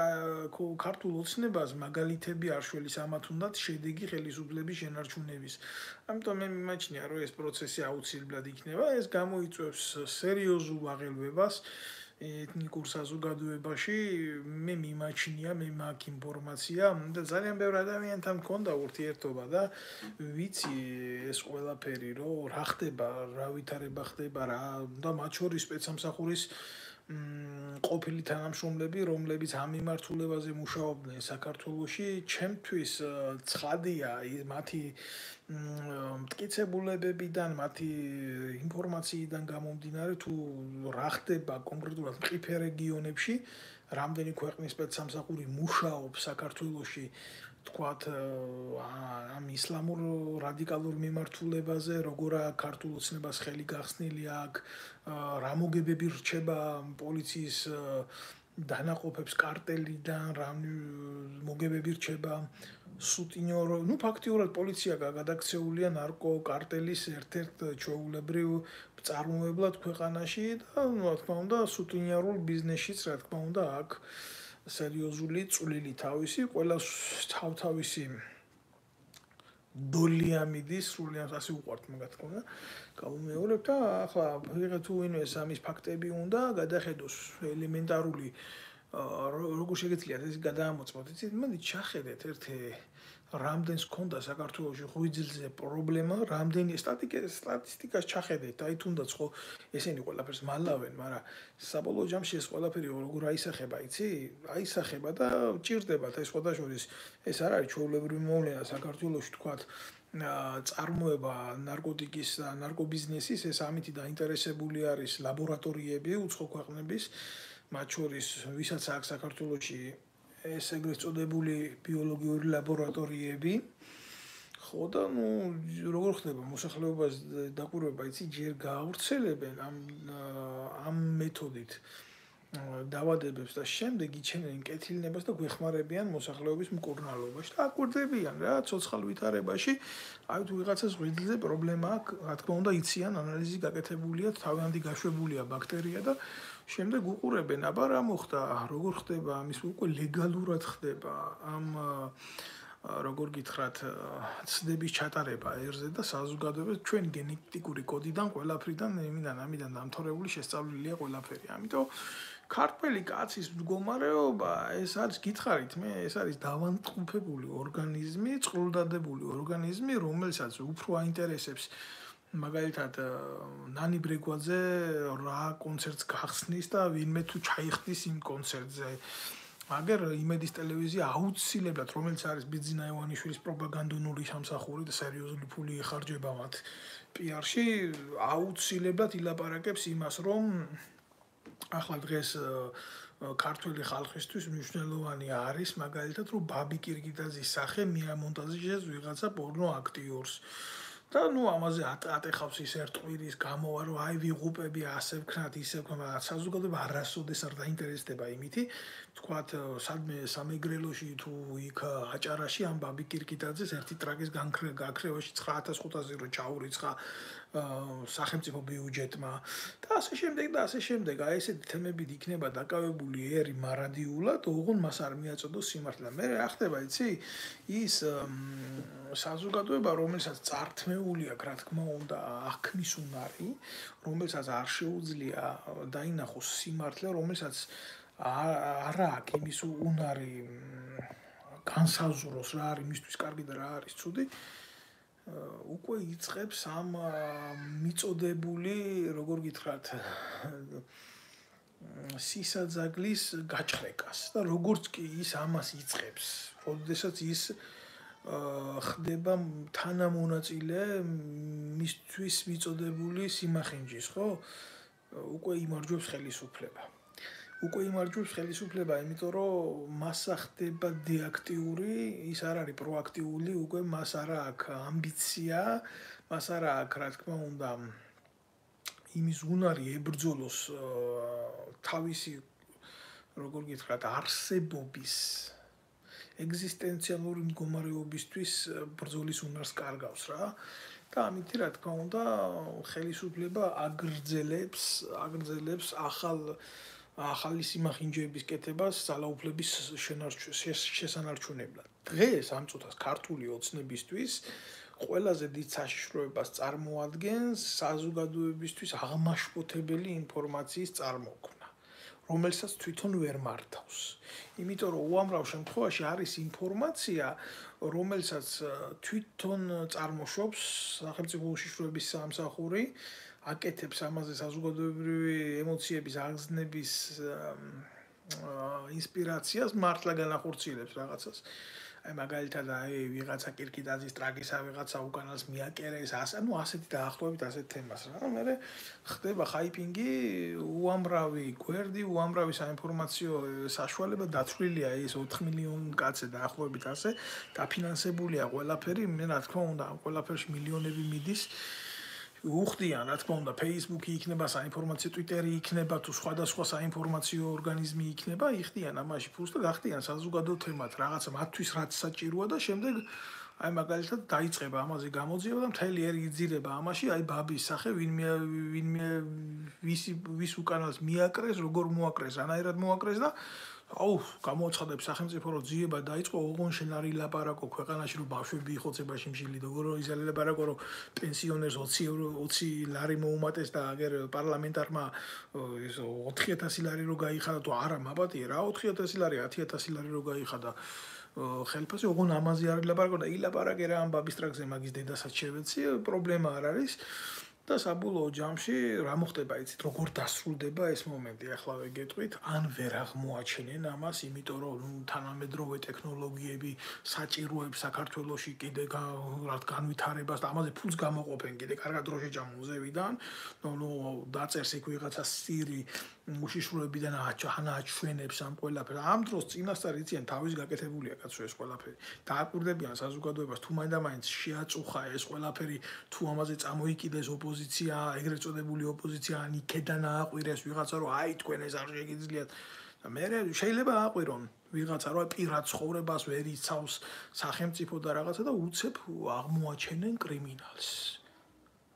ქართულ ოცნებას მაგალითები არ შველის, ამათ უნდათ შედეგი ხელისუფლების შენარჩუნების. ამიტომ მე მიმაჩნია, რომ ეს პროცესი აუცილებლად იქნება, ეს გამოიწვევს სერიოზულ აღელვებას ეთნიკურ საზოგადოებაში. მე მიმაჩნია, მე მაქვს ინფორმაცია და ძალიან ბევრ ადამიანთან მქონდა ურთიერთობა და ვიცი ეს ყველაფერი, რომ რა ხდება, რა ვითარება ხდება რა და მათ შორის სპეცსამსახურის ყოფილი თანამშრომლები, რომლებიც ამ მიმართულებაზე მუშაობდნენ საქართველოში, ჩემთვის ცხადია მათი მტკიცებულებებიდან, მათი ინფორმაციიდან გამომდინარე, თუ რა ხდება კონკრეტულად მყიფე რეგიონებში, რამდენი ქვეყნის სპეცსამსახური მუშაობს საქართველოში, თქვათ ამ ისლამურ რადიკალურ მიმართულებაზე, როგორა ქართულ ოცნებას ხელი გახსნილი აქვს, რა მოგებები რჩება პოლიციის დანაყოფებს კარტელიდან, რა მოგებები რჩება სუტინიორ, ну ფაქტიურად პოლიცია გადაქცეულია ნარკოკარტელის ერთ-ერთ ჩვეულებრივ მწარმოებლად ქვეყანაში და რა თქმა უნდა სუტინიორულ ბიზნესშიც რა თქმა უნდა აქვს სერიოზული წვლილი თავისი, ყველა თავთავისი დოლიამიდის სრულიად ასე უყვართ მაგათ თქმა გამომეორებ და ახლა ვიღე თუ ვინმე სამის ფაქტები უნდა გადახედოს ელემენტარული როგორ შეგეცლიათ ეს გადაამოწმოთ იცით მოდი ჩახედეთ ერთი რამდენს ქონდა საქართველოში ღვიძლზე პრობლემა რამდენი სტატისტიკას ჩახედეთ აი თუნდაც ხო ესენი ყველაფერს მალავენ მაგრამ საბოლოო ჯამში ეს ყველაფერი როგორ აისახება იცი აისახება და ჭირდებათ ეს სხვადასხვა ეს არ არის ჩვეულებრივი მოვლენა საქართველოში თქვათ წარმოება ნარკოტიკის და ნარკობიზნესის ეს ამით დაინტერესებული არის ლაბორატორიები უცხო ქვეყნების მათ შორის ვისაც აქვს საქართველოში ეს ეგრეთ წოდებული ბიოლოგიური ლაბორატორიები ხო და ნუ როგორ ხდება მოსახლეობას დაკვირვება იცი ჯერ გაავრცელებენ ამ ამ მეთოდით დავადებებს და შემდეგ იჩენენ კეთილნებას და გვეხმარებიან მოსახლეობის მკურნალობაში და აკვირდებიან რა ცოცხალ ვითარებაში აი თუ ვიღაცას ღვიძლზე პრობლემა აქვს რა თქმა უნდა იციან ანალიზი გაკეთებულია თავიანთი გაშვებულია ბაქტერია და შემდეგ უყურებენ, აბა რა მოხდა, როგორ ხდება ამის უკვე ლეგალურად ხდება ამ როგორ გითხრათ, ცდების ჩატარება ერზე და საზოგადოებას ჩვენ გენეტიკური კოდიდან ყველაფრიდან იმიდან ამიდან დამთავრებული შესწავლილია ყველაფერი. ამიტომ ქართველი კაცის მდგომარეობა ეს არის გითხარით მე, ეს არის დავანტყოფებული ორგანიზმი, წყლუდადებული ორგანიზმი, რომელსაც უფრო აინტერესებს მაგალითად ნანი ბრეგვაძე რა კონცერტს გახსნის და ვინმე თუ ჩაიხდის იმ კონცერტზე. აგერ იმედის ტელევიზია აუცილებლად რომელიც არის ბიძინა ივანიშვილის პროპაგანდონური სამსახური და სერიოზული ფული ეხარჯება მათ პიარში აუცილებლად ილაპარაკებს იმას რომ ახლა დღეს ქართული ხალხისთვის მნიშვნელოვანი არის მაგალითად რომ ბაბი კირგიტაძის სახე მიამონტაჟეს ვიღაცა პორნო აქტიორს. და ნუ ამაზე ატეხავს ის ერთყვირის გამოვა რომ აი ვიღუპები ასე ვქნათ ისე ვქნათ საზოგადოება არასოდეს არ დაინტერესდება იმითი თქვათ სადმე სამეგრელოში თუ იქ აჭარაში ამ ბაბი კირკიტაძეს ერთი ტრაკის გაქრევაში ცხრა ათას ხუთასი რო ჩაურიცხა სახელმწიფო ბიუჯეტმა და ასე შემდეგ და ასე შემდეგ აი ესეთი თემებით იქნება დაკავებული ერი მარადიულად ოღონ მას არ მიაწოდოს სიმართლე მე რა ხდება იცი ის საზოგადოება რომელსაც წართმეული აქვს რა თქმა უნდა აღქმის უნარი რომელსაც არ შეუძლია დაინახოს სიმართლე რომელსაც არ აქვს იმის უნარი განსაზღვროს რა არის მისთვის კარგი და რა არის ცუდი უკვე იწყებს ამ მიწოდებული როგორ გითხრათ სისაძაგლის გაჭრეკას და როგორც კი ის ამას იწყებს როდესაც ის ხდება თანამონაწილე მისთვის მიწოდებული სიმახინჯის ხო უკვე იმარჯვებს ხელისუფლება უკვე იმარჯვებს ხელისუფლება იმიტომ რომ მასა ხდება დეაქტიური ის არ არის პროაქტიული უკვე მას არ აქვს ამბიცია მას არ აქვს რა თქმა უნდა იმის უნარი ებრძოლოს თავისი როგორ გითხრათ არსებობის ეგზისტენციალური მდგომარეობისთვის ბრძოლის უნარს კარგავს რა და ამით რა თქმა უნდა ხელისუფლება აგრძელებს აგრძელებს ახალ ახალი სიმახინჯეების კეთებას ძალაუფლების შესანარჩუნებლად. დღეს ამ წუთას ქართული ოცნებისთვის ყველაზე დიდ საშიშროებას წარმოადგენს საზოგადოებისთვის აღმაშფოთებელი ინფორმაციის წარმოქმნა, რომელსაც თვითონ ვერ მართავს. იმიტომ რომ უამრავ შემთხვევაში არის ინფორმაცია, რომელსაც თვითონ წარმოშობს სახელმწიფო უშიშროების სამსახური აკეთებს ამაზე საზოგადოებრივი ემოციების აღგზნების ინსპირაციას მართლა განახორციელებს რაღაცას. აი მაგალითად აი ვიღაცა კირკიტაძის ტრაგისა ვიღაცა უკანას მიაკერეს ასე ნუ ასეთი დაახლოებით ასეთ თემას რა. მე ხდება ხაიპინგი უამრავი გვერდი უამრავი საინფორმაციო საშუალება დათვლილია ის ოთხ მილიონი კაცი დაახლოებით ასე დაფინანსებულია ყველაფერი მე რა თქმა უნდა ამ ყველაფერში მილიონები მიდის უხდიან, რა თქმა უნდა, Facebook-ი იქნება, საინფორმაციო Twitter-ი იქნება, თუ სხვადასხვა საინფორმაციო ორგანიზმი იქნება, იხდიან ამაში ფულს და გახდიან საზოგადო თემად, რაღაცა მათთვის რაც საჭიროა და შემდეგ აი მაგალითად დაიწყება ამაზე გამოძიება და მთელი ერი იძირება ამაში, აი ბაბის სახე ვინმე ვინმე ვის ვის უკანას მიაკრეს, როგორ მოაკრეს, რანაირად მოაკრეს და აუ, გამოაცხადებს სახელმწიფო რომ ძიება დაიწყო, ოღონ შენ არ ილაპარაკო ქვეყანაში რომ ბავშვები იხოცებაში მშილი და როგორ იზალაპარაკო რომ პენსიონერს ოცი ლარი მოუმატეს და აგერ პარლამენტარმა ეს ოთხი ათასი ლარი რო გაიხადა თუ არა მაბატია რა ოთხი ათასი ლარი ათი ათასი ლარი რო გაიხადა ხელფასი ოღონ ამაზე არ ილაპარაკო და ილაპარაკე რა ამ ბაბის ტრაქზე მაგის დედასაც შევეცი პრობლემა არ არის და საბოლოო ჯამში რა მოხდება იცით როგორ დასრულდება ეს მომენტი ახლა გეტყვით ან ვერ აღმოაჩენენ ამას იმიტომ რომ ნუ თანამედროვე ტექნოლოგიები საჭიროებს საქართველოში კიდე რა განვითარებას და ამაზე ფულს გამოყოფენ კიდე კარგად რო შეჭამონ ზევიდან ნუ დაწერს იქ ვიღაცა სირი უშიშროებიდან აჩვენებს ამ ყველაფერს ამ დროს წინასწარ იციან თავის გაკეთებულია კაცო ეს ყველაფერი დააკვირდებიან საზოგადოებას თუ მაინდა-მაინც შეაწუხა ეს ყველაფერი თუ ამაზე წამოიკიდეს ოპოზიცია ეგრეთ წოდებული ოპოზიცია ან იქედან ააყვირეს ვიღაცა რომ აი თქვენ ეს არ შეგიძლიათ და მე შეიძლება ააყვირონ ვიღაცა რომ პირად ცხოვრებას ვერ იცავს სახელმწიფო და რაღაცა და უცებ აღმოაჩენენ კრიმინალს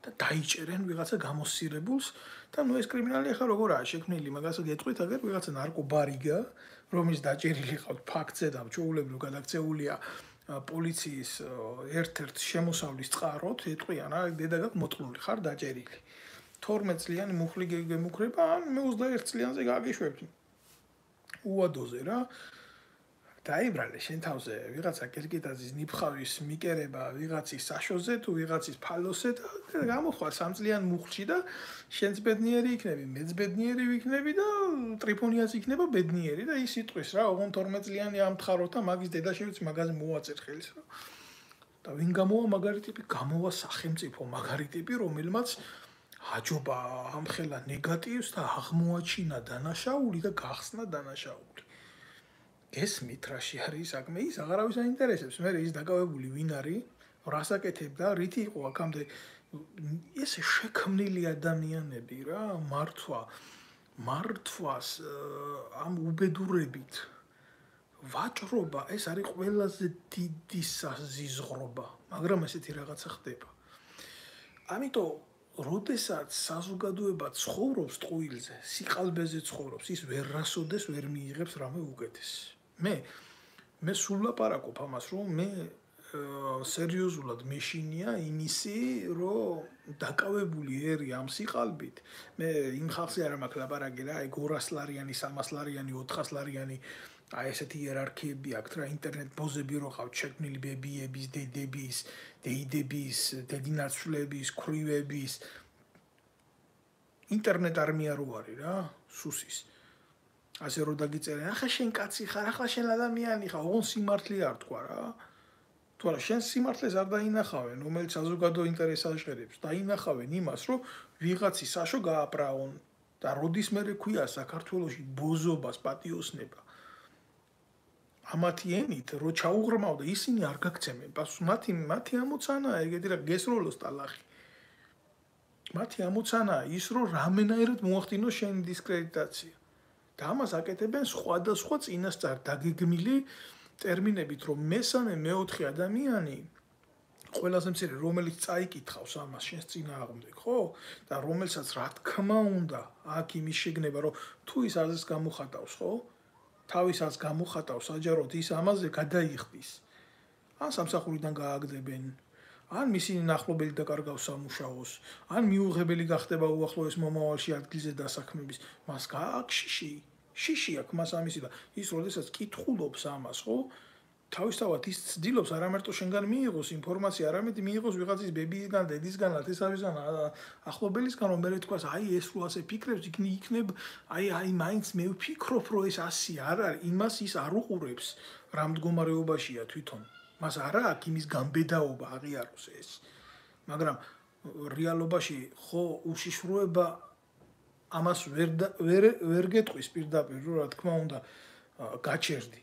და დაიჭერენ ვიღაცა გამოსირებულს და ნუ ეს კრიმინალი ახლა როგორაა შექმნილი მაგას გეტყვით აგერ ვიღაცა ნარკობარიგა რომის დაჭერილი ყავთ ფაქტზე და ჩაულებრივ გადაქცეულია პოლიციის ერთ-ერთ შემოსავლის წყაროთ ეტყვიან რა დედაგაკ მოწყლული ხარ დაჭერილი თორმეტ წლიანი მუხლი გემუქრება ან მე ოცდაერთ წლიანზე გაგიშვებთ უადოზე რა დაიბრალე შენ თავზე ვიღაცა კირკიტაძის ნიფხავის მიკერება ვიღაცის საშოზე თუ ვიღაცის ფალოსე და გამოხვალ სამ წლიან მუხლში და შენც ბედნიერი იქნები მეც ბედნიერი ვიქნები და ტრიფონიაც იქნება ბედნიერი და ის იტყვის რა ოღონ თორმეტ წლიანი ამთხაროთ და მაგის დედაშევიც მაგაზე მოაწერ ხელს რა და ვინ გამოვა მაგარი ტიპი გამოვა სახელმწიფო მაგარი ტიპი რომელმაც აჯობა ამხელა ნეგატივს და აღმოაჩინა დანაშაული და გახსნა დანაშაული გესმით რაში არის საქმე ის აღარავის აინტერესებს მე ის დაკავებული ვინ არის რას აკეთებდა რითი იყო აქამდე ეს შექმნილი ადამიანები რა მართვა მართვას ამ უბედურებით ვაჭრობა ეს არის ყველაზე დიდი საზიზღრობა მაგრამ ესეთი რაღაცა ხდება ამიტომ როდესაც საზოგადოება ცხოვრობს ტყუილზე სიყალბეზე ცხოვრობს ის ვერ რასოდეს ვერ მიიღებს რამე უკეთეს მე მე სულ ლაპარაკობ ამას რომ მე სერიოზულად მეშინია იმისი რომ დაკავებული ერი ამ სიყალბით მე იმ ხალხზე არ მაქვს ლაპარაკი რა ეგ ორას ლარიანი სამას ლარიანი ოთხას ლარიანი აი ესეთი იერარქიები აქვს რა ინტერნეტ ბოზები რო ყავთ შექმნილი ბებიების დედების დეიდების დედინაცვლების ქრივების ინტერნეტ არმია რო არის რა სუსის ასე რომ დაგიწერენ ახლა შენ კაცი ხარ ახლა შენ ადამიანი ხარ ოღონ სიმართლე არ თქვა რა თუ არა შენ სიმართლეს არ დაინახავენ რომელიც საზოგადო ინტერესს აჟღერებს დაინახავენ იმას რომ ვიღაცი საშო გააბრაონ და როდის მე ქვია საქართველოში ბოზობას პატიოსნება ამათი ენით რო ჩაუღრმავ და ისინი არ გაგცემენ პასუხს მათი მათი ამოცანაა ეგეთი რა გესროლოს ტალახი მათი ამოცანაა ის რომ რამენაირად მოახდინოს შენი დისკრედიტაცია და ამას აკეთებენ სხვადასხვა წინასწარ დაგეგმილი ტერმინებით რომ მესამე მეოთხე ადამიანი ყველაზე მცირე რომელიც წაიკითხავს ამას შენს წინააღმდეგ ხო და რომელსაც რა თქმა უნდა აქ იმის შეგნება რომ თუ ის აზრს გამოხატავს ხო თავისაც გამოხატავს საჯაროდ ის ამაზე გადაიხდის ან სამსახურიდან გააგდებენ ან მისი ნახლობელი დაკარგავს სამუშაოს ან მიუღებელი გახდება უახლოეს მომავალში ადგილზე დასაქმების მას გააქვს შიში შიში აქვს მას ამისი და ის როდესაც კითხულობს ამას ხო თავისთავად ის ცდილობს არამარტო შენგან მიიღოს ინფორმაცია არამედ მიიღოს ვიღაცის ბებისგან დედისგან ათესავისგან ახლობელისგან რომ მე თქვას აი ეს რო ასე ფიქრებს იქნებ აი აი მაინც მე ვფიქრობ რომ ეს ასე არ არის იმას ის არ უყურებს რა მდგომარეობაშია თვითონ მას არა აქვს იმის გამბედაობა აღიაროს ეს მაგრამ რეალობაში ხო უშიშროება ამას ვერ ვერ ვერ გეტყვის პირდაპირ რომ რა თქმა უნდა გაჩერდი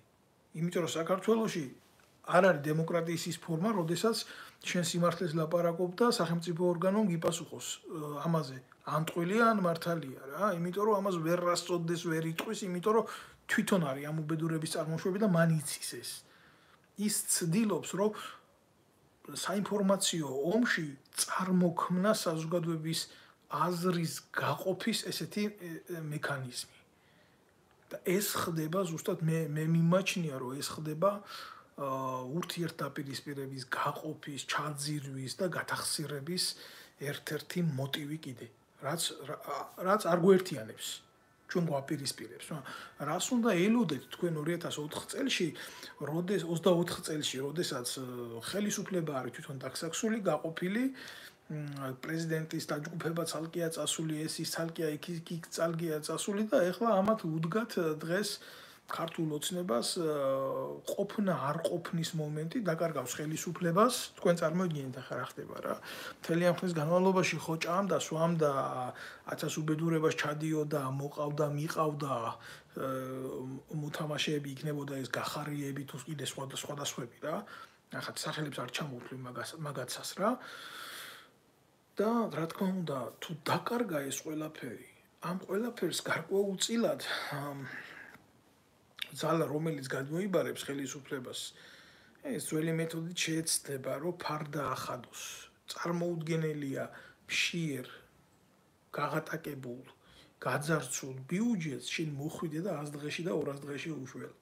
იმიტომ რომ საქართველოში არ არის დემოკრატიის ის ფორმა, როდესაც შენ სიმართლეს ლაპარაკობ და სახელმწიფო ორგანომ გიპასუხოს ამაზე ან ტყუილია ან მართალია რა, იმიტომ რომ ამას ვერ რასწოდეს, ვერ იტყვის, იმიტომ რომ თვითონ არის ამ უბედურების წარმოშვები და მან იცის ეს. ის ცდილობს რომ საინფორმაციო ომში წარმოქმნა საზოგადოების აზრის გაყოფის ესეთი მექანიზმი. და ეს ხდება ზუსტად მე მე მიმაჩნია რომ ეს ხდება ურთიერთდაპირისპირების გაყოფის, ჩაძირვის და გათახსირების ერთ-ერთი მოტივი კიდე, რაც რაც არ გვერთიანებს, ჩვენ გვაპირისპირებს. რას უნდა ელოდეთ თქვენ ორი ათას ოთხ წელში, როდეს ოცდაოთხ წელში, როდესაც ხელისუფლება არის თვითონ დაქსაქსული, გაყოფილი, პრეზიდენტის დაჯგუფება ცალკეა წასული, ეს ის ცალკეა, იქ იქ ცალკეა წასული და ეხლა ამათ უდგათ დღეს ქართულ ოცნებას ყოფნა არ ყოფნის მომენტი დაკარგავს ხელისუფლებას, თქვენ წარმოიდგინეთ ახლა რა ხდება რა. მთელი ამ ხნის განმავლობაში ხო ჭამდა, სვამდა, ათას უბედურებას ჩადიოდა, მოყავდა, მიყავდა, მოთამაშეები იქნებოდა ეს გახარიები თუ კიდე სხვა და სხვა და სხვები რა. ახლა სახელებს არ ჩამოვთვლი მაგას მაგაცას რა. და რა თქმა უნდა, თუ დაკარგა ეს ყველაფერი, ამ ყველაფერს გარკვეულწილად ძალა რომელიც გადმოიბარებს ხელისუფლებას, ეს ძველი მეთოდით შეეცდება, რომ ფარდა ახადოს. წარმოუდგენელია მშიერ, გაღატაკებულ, გაძარცულ ბიუჯეტს შენ მოხვიდე და ას დღეში და ორას დღეში უშველო.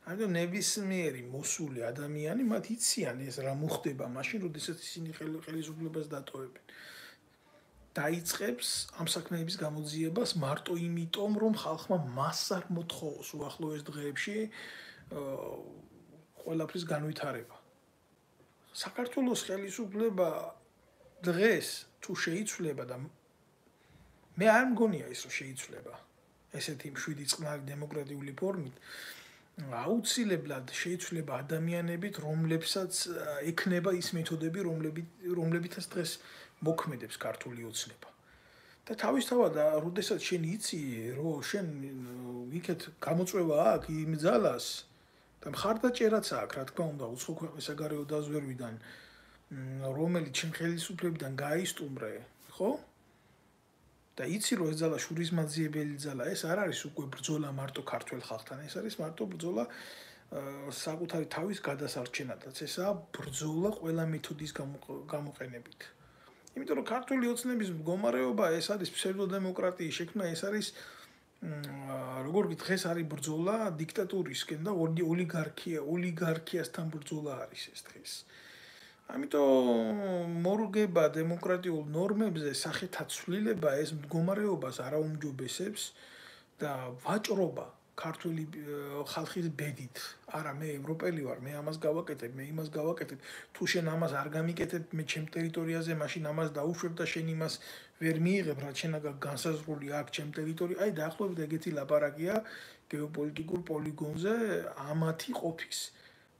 ამიტომ ნებისმიერი მოსული ადამიანი მათ იციან ეს რა მოხდება მაშინ, როდესაც ისინი ხელისუფლებას დატოვებენ. დაიწყებს ამ საქმეების გამოძიებას მარტო იმიტომ, რომ ხალხმა მას არ მოთხოვოს უახლოეს დღეებში ყველაფრის განვითარება. საქართველოს ხელისუფლება დღეს თუ შეიცვლება და მე არ მგონია ის რომ შეიცვლება ესეთი მშვიდი წყნარი დემოკრატიული ფორმით, აუცილებლად შეიცვლება ადამიანებით, რომლებსაც ექნება ის მეთოდები, რომლებითაც დღეს მოქმედებს ქართული ოცნება. და თავისთავად, როდესაც შენ იცი, რომ შენ იქეთ გამოწვევა აქვს იმ ძალას და მხარდაჭერაც აქვს, რა თქმა უნდა, უცხო ქვეყნის საგარეო დაზვერვიდან, რომელიც შენ ხელისუფლებიდან გაისტუმრე, ხო? და იცი, რომ ეს ძალა შურისმაძიებელი ძალა, ეს არ არის უკვე ბრძოლა მარტო ქართველ ხალხთან, ეს არის მარტო ბრძოლა საკუთარი თავის გადასარჩენადაც, ესაა ბრძოლა ყველა მეთოდის გამოყენებით. იმიტომ რომ ქართული ოცნების მდგომარეობა ეს არის ფსევდოდემოკრატიის შექმნა, ეს არის როგორ დღეს არის ბრძოლა დიქტატურისკენ და ოლიგარქია, ოლიგარქიასთან ბრძოლა არის ეს დღეს. ამიტომ მორგება დემოკრატიულ ნორმებზე სახეთა ცვლილება ეს მდგომარეობას არაუმჯობესებს და ვაჭრობა ქართული ხალხის ბედით. არა, მე ევროპელი ვარ, მე ამას გავაკეთებ, მე იმას გავაკეთებ. თუ შენ ამას არ გამიკეთებ, მე ჩემ ტერიტორიაზე, მაშინ ამას დაუშვებ და შენ იმას ვერ მიიღებ, რაც შენ განსაზღვრული აქვს ჩემ ტერიტორიაზე. აი, დაახლოებით ეგეთი ლაპარაკია გეოპოლიტიკურ პოლიგონზე ამათი ყოფის.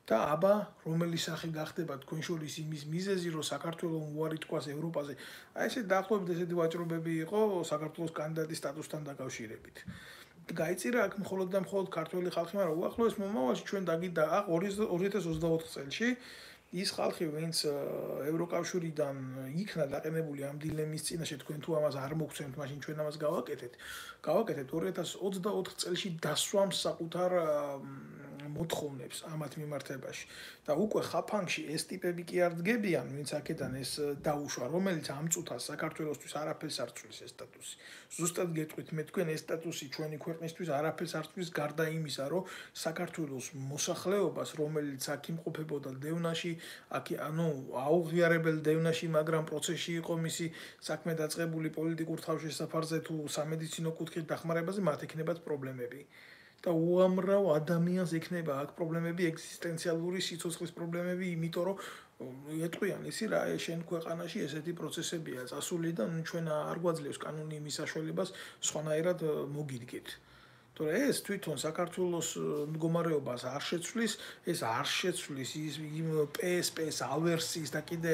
და აბა, რომელი სახე გახდება თქვენ შორის იმის მიზეზი, რომ საქართველოს უარი თქვას ევროპაზე. აი, ესე დაახლოებით ესეთი ვაჭრობები იყო საქართველოს კანდიდატის სტატუსთან დაკავშირებით. გაიწირა აქ მხოლოდ და მხოლოდ ქართველი ხალხი, მაგრამ უახლოეს მომავალში ჩვენ დაგიდა ორი ათას ოცდაოთხ წელში ის ხალხი, ვინც ევროკავშირიდან იქნა დაყენებული ამ დილემის წინაშე, თქვენ თუ ამას არ მოგცემთ, მაშინ ჩვენ ამას გავაკეთეთ. გავაკეთეთ ორი ათას ოცდაოთხ წელში დასვამს საკუთარ მოთხოვნებს ამათ მიმართებაში. და უკვე ხაფანგში ეს ტიპები კი არ დგებიან, ვინც აქედან ეს დაუშვა, რომელიც ამ წუთას საქართველოსთვის არაფერს არ ცვლის ეს სტატუსი. ზუსტად გეტყვით, მე თქვენ ეს სტატუსი ჩვენი ქვეყნისთვის არაფერს არ ცვლის გარდა იმისა, რომ საქართველოს მოსახლეობას, რომელიც აქ იმყოფებოდა დევნაში, აქ ანუ აუღიარებელ დევნაში, მაგრამ პროცესში იყო მისი საქმე დაწყებული პოლიტიკურ თავშესაფარზე თუ სამედიცინო კუთხით დახმარებაზე, მათ ექნებათ პრობლემები. და უამრავ ადამიანს ექნება აქ პრობლემები, ეგზისტენციალური სიცოცხლის პრობლემები, იმიტომ რომ ეტყვიან ისი რა, შენ ქვეყანაში ესეთი პროცესებია წასული და ჩვენ არ გვაძლევს კანონი იმის საშუალებას სხვანაირად მოგიდგეთ. თორე ეს თვითონ საქართველოს მდგომარეობას არ შეცვლის, ეს არ შეცვლის ის იმ პე ეს პე-ს ავერსიის და კიდე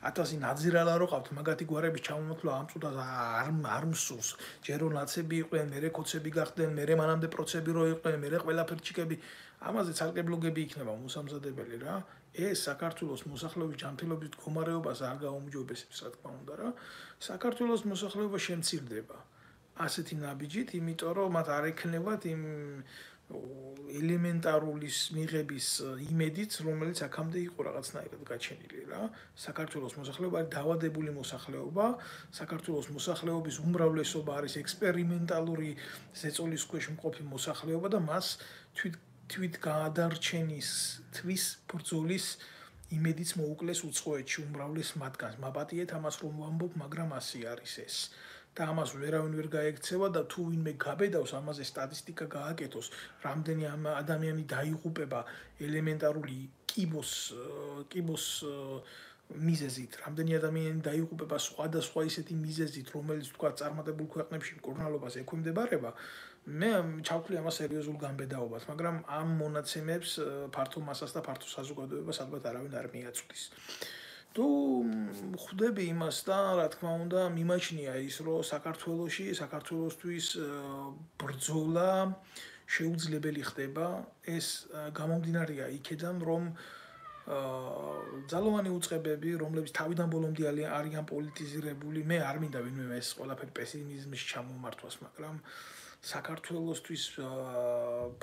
ათასი ნაძირალა რო ყავთ, მაგათი გვარების ჩამომოთვლა ამ წუთას არ არ მსურს. ჯერო ნაცები იყვნენ, მერე კოცები გახდნენ, მერე მანამდე პროცები რო იყვნენ, მერე ყველაფერი ჩიკები, ამაზე ცალკე ბლოგები იქნება მოსამზადებელი რა. ეს საქართველოს მოსახლეობის ჯანმრთელობის მდგომარეობას არ გაუმჯობესებს, რა თქმა უნდა რა. საქართველოს მოსახლეობა შემცირდება. ასეთი ნაბიჯით, იმიტომ რომ მათ არ ექნებათ იმ ელემენტარულის მიღების იმედით, რომელიც აქამდე იყო რაღაცნაირად გაჩენილი რა. საქართველოს მოსახლეობა არის დაავადებული მოსახლეობა, საქართველოს მოსახლეობის უმრავლესობა არის ექსპერიმენტალური ზეწოლის ქვეშ მყოფი მოსახლეობა და მას თვით თვით გაადარჩენის თვის ბრძოლის იმედიც მოუკლეს უცხოეთში უმრავლეს მათგანს. მაპატიეთ ამას რომ ვამბობ, მაგრამ ასე არის ეს. და ამას ვერავინ ვერ გაექცევა და თუ ვინმე გაბედავს ამაზე სტატისტიკა გააკეთოს, რამდენი ადამიანი დაიღუპება ელემენტარული კიბოს კიბოს მიზეზით, რამდენი ადამიანი დაიღუპება სხვადასხვა ისეთი მიზეზით, რომელიც თქვა წარმატებულ ქვეყნებში მკურნალობას ექვემდებარება, მე ჩავთვლი ამას სერიოზულ განბედაობას, მაგრამ ამ მონაცემებს ფართო მასას და ფართო საზოგადოებას ალბათ არავინ არ მიაწვდის. თუ ხვდები იმას და რა თქმა უნდა მიმაჩნია ის რომ საქართველოში საქართველოსთვის ბრძოლა შეუძლებელი ხდება ეს გამომდინარეა იქედან რომ ძალოვანი უწყებები რომლებიც თავიდან ბოლომდე არიან პოლიტიზირებული მე არ მინდა ვინმე ეს ყველაფერი პესიმიზმში ჩამომართვას მაგრამ საქართველოსთვის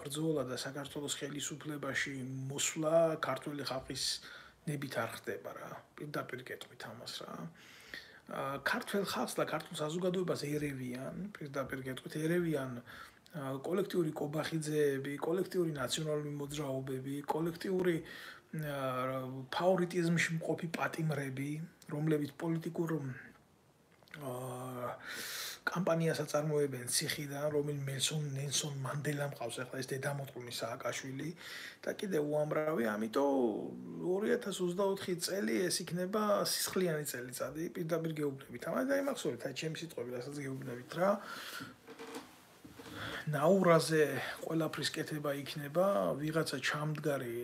ბრძოლა და საქართველოს ხელისუფლებაში მოსვლა ქართული ხალხის ნებით არ ხდება რა პირდაპირ კეთვით ამას რა ქართულ ხალხს და ქართულ საზოგადოებას ერევიან პირდაპირ კეთვით ერევიან კოლექტიური კობახიძეები კოლექტიური ნაციონალური მოძრაობები კოლექტიური ფავორიტიზმში მყოფი პატიმრები რომლებიც პოლიტიკურ კამპანიას აწარმოებენ ციხიდან რომელიც მელსონ ნელსონ მანდელამ ყავს ახლა ეს დედამოწყული სააკაშვილი და კიდე უამრავი ამიტომ ორი ათას ოცდაოთხი წელი ეს იქნება სისხლიანი წელიწადი პირდაპირ გეუბნებით ამაზე დაიმახსოვრეთ აი ჩემი სიტყვები რასაც გეუბნებით რა ნაურაზე ყველაფრის კეთება იქნება ვიღაცა ჩამდგარი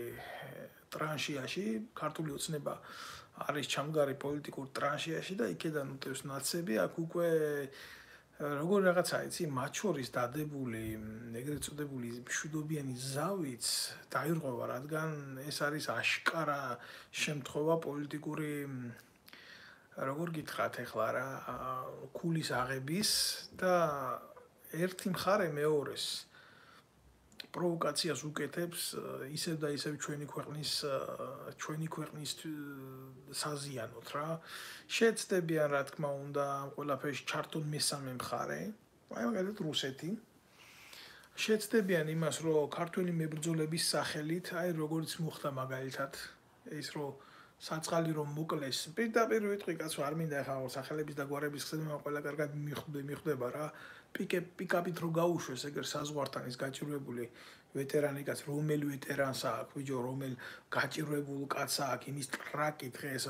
ტრანშიაში ქართული ოცნება არის ჩამდგარი პოლიტიკურ ტრანშიაში და იქედან უტევს ნაცები აქ უკვე როგორ რაღაცა იცი მათ შორის დადებული ეგრეთ წოდებული მშვიდობიანი ზავიც დაირღვევა რადგან ეს არის აშკარა შემთხვევა პოლიტიკური როგორ გითხრათ ეხლა რა ქულის აღების და ერთი მხარე მეორეს პროვოკაციას უკეთებს ისევ და ისევ ჩვენი ქვეყნის ჩვენი ქვეყნის საზიანოთ რა შეეცდებიან რა თქმა უნდა ამ ყველაფერში ჩართონ მესამე მხარე აი მაგალითად რუსეთი შეეცდებიან იმას რომ ქართული მებრძოლების სახელით აი როგორც მოხდა მაგალითად ის რომ საწყალი რომ მოკლეს პირდაპირ ვიტყვი კაცო არ მინდა ახლა სახელების და გვარების ხსენება ყველა კარგად მიხვდება რა პიკე პიკაპით რო გაუშვეს ეგერ საზღვართან ის გაჭირვებული ვეტერანი კაც რომელი ვეტერანს აქვს ბიჭო რომელ გაჭირვებულ კაცს აქვს იმის ტრაკი დღეს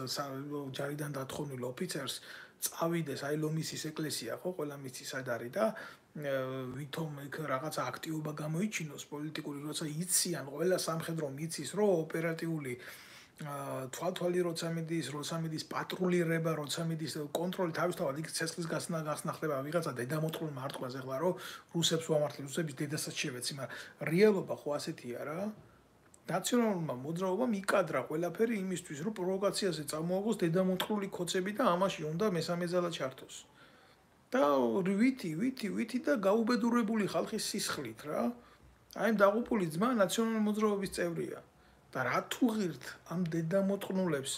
ჯარიდან დათხოვნილ ოფიცერს წავიდეს აი ლომისის ეკლესია ხო ყველა მიცის სად არის და ვითომ იქ რაღაცა აქტივობა გამოიჩინოს პოლიტიკური როცა იციან ყველა სამხედრო მიცის რომ ოპერატიული თვალთვალი როცა მიდის, როცა მიდის პატრულირება, როცა მიდის კონტროლი თავისთავად იქ ცეცხლის გასნა გასნა ხდება ვიღაცა დედამოწყვილ მარტყვას ეხლა რომ რუსებს ვამართლი, რუსების დედასაც შევეცი, მაგრამ რეალობა ხო ასეთია რა. ნაციონალურმა მოძრაობამ იკადრა ყველაფერი იმისთვის, რომ პროვოკაციაზე წამოაგოს დედამოწყვლული ქოცები და ამაში უნდა მესამე ძალა ჩართოს. და ვითი, ვითი, ვითი და გაუბედურებული ხალხის სისხლით რა. აი ამ დაღუპული ძმა ნაციონალური მოძრაობის წევრია. და რა თუ ღირთ ამ დედამოწყნულებს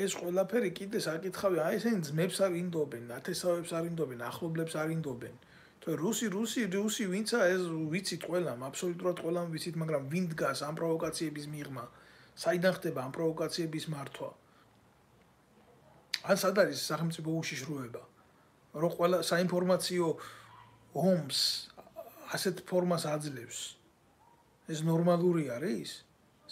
ეს ყველაფერი კიდე საკითხავი აი ესენი ძმებს არ ინდობენ, ნათესავებს არ ინდობენ, ახლობლებს არ ინდობენ. თუ რუსი, რუსი, რუსი ვინცა ეს ვიცით ყველამ, აბსოლუტურად ყველამ ვიცით, მაგრამ ვინ დგას ამ პროვოკაციების მიღმა? საიდან ხდება ამ პროვოკაციების მართვა? ან სად არის სახელმწიფო უშიშროება? რომ ყველა საინფორმაციო ომს ასეთ ფორმას აძლევს. ეს ნორმალური არის?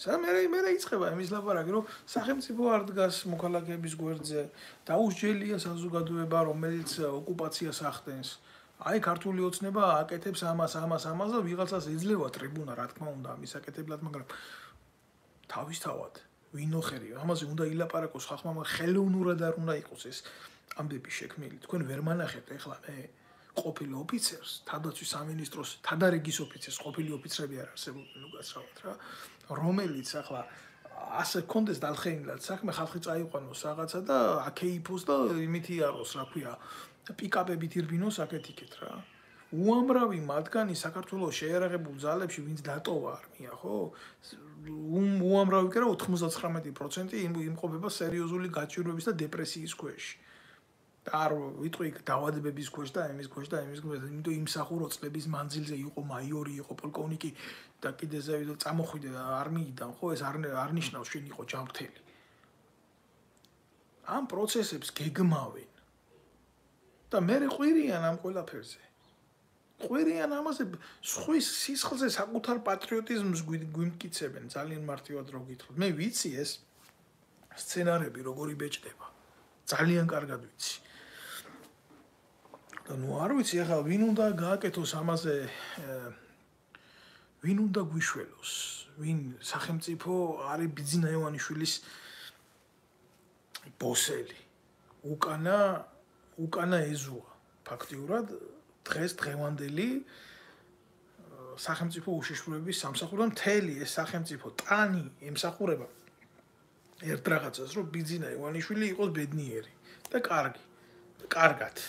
სამერე მე იწყება იმის ლაპარაკი რომ სახელმწიფო არ დგას მოქალაქეების გვერდზე დაუსჯელია საზოგადოება რომელიც ოკუპაციას ახდენს აი ქართული ოცნება აკეთებს ამას ამას ამას და ვიღაცას ეძლევა ტრიბუნა რა თქმა უნდა ამის აკეთებლად მაგრამ თავისთავად ვინოხერი ამაზე უნდა ილაპარაკოს ხალხმა ხელოვნურად არ უნდა იყოს ეს ამბები შექმნილი თქვენ ვერ მანახეთ ეხლა მე ყოფილი ოფიცერს თავდაცვის სამინისტროს თადარიგის ოფიცერს ყოფილი ოფიცრები არ არსებობენ უკაცრავად რა რომელიც ახლა ასე კონდეს დალხენილად საქმე ხალხი წაიყვანოს რაღაცა და აკეიფოს და იმით იაროს რა ქვია პიკაპებით ირბინოს აკეთ იქეთ რა უამრავი მათგანი საქართველოს შეიარაღებულ ძალებში ვინც დატოვა არმია, ხო? უამრავი კი არა ოთხმოცდათხრამეტი პროცენტი იმყოფება სერიოზული გაჭირვების და დეპრესიის ქვეშ. და არ ვიტყვი დაავადებების ქვეშ და იმის ქვეშ და იმის ქვეშ, იმიტომ იმსახურო წლების მანძილზე იყო მაიორი, იყო პოლკოვნიკი და კიდე ზევი წამოხვიდე არმიიდან, ხო, ეს არ არ ნიშნავს შენ იყო ჯანმრთელი. ამ პროცესებს გეგმავენ და მე ყვირიან ამ ყველაფერზე. ყვირიან ამაზე სხვის სისხლზე საკუთარ პატრიოტიზმს გვიმტკიცებენ ძალიან მარტივად რო გითხრათ. მე ვიცი ეს სცენარები როგორი ბეჭდება. ძალიან კარგად ვიცი. და ნუ არ ვიცი ახლა ვინ უნდა გააკეთოს ამაზე ვინ უნდა გვიშველოს, ვინ სახელმწიფო არის ბიძინა ივანიშვილის ბოსელი. უკანა უკანა ეზოა ფაქტიურად დღეს დღევანდელი სახელმწიფო უშიშროების სამსახური მთელი ეს სახელმწიფო ტანი ემსახურება ერთ რაღაცას რომ ბიძინა ივანიშვილი იყოს ბედნიერი და კარგი და კარგად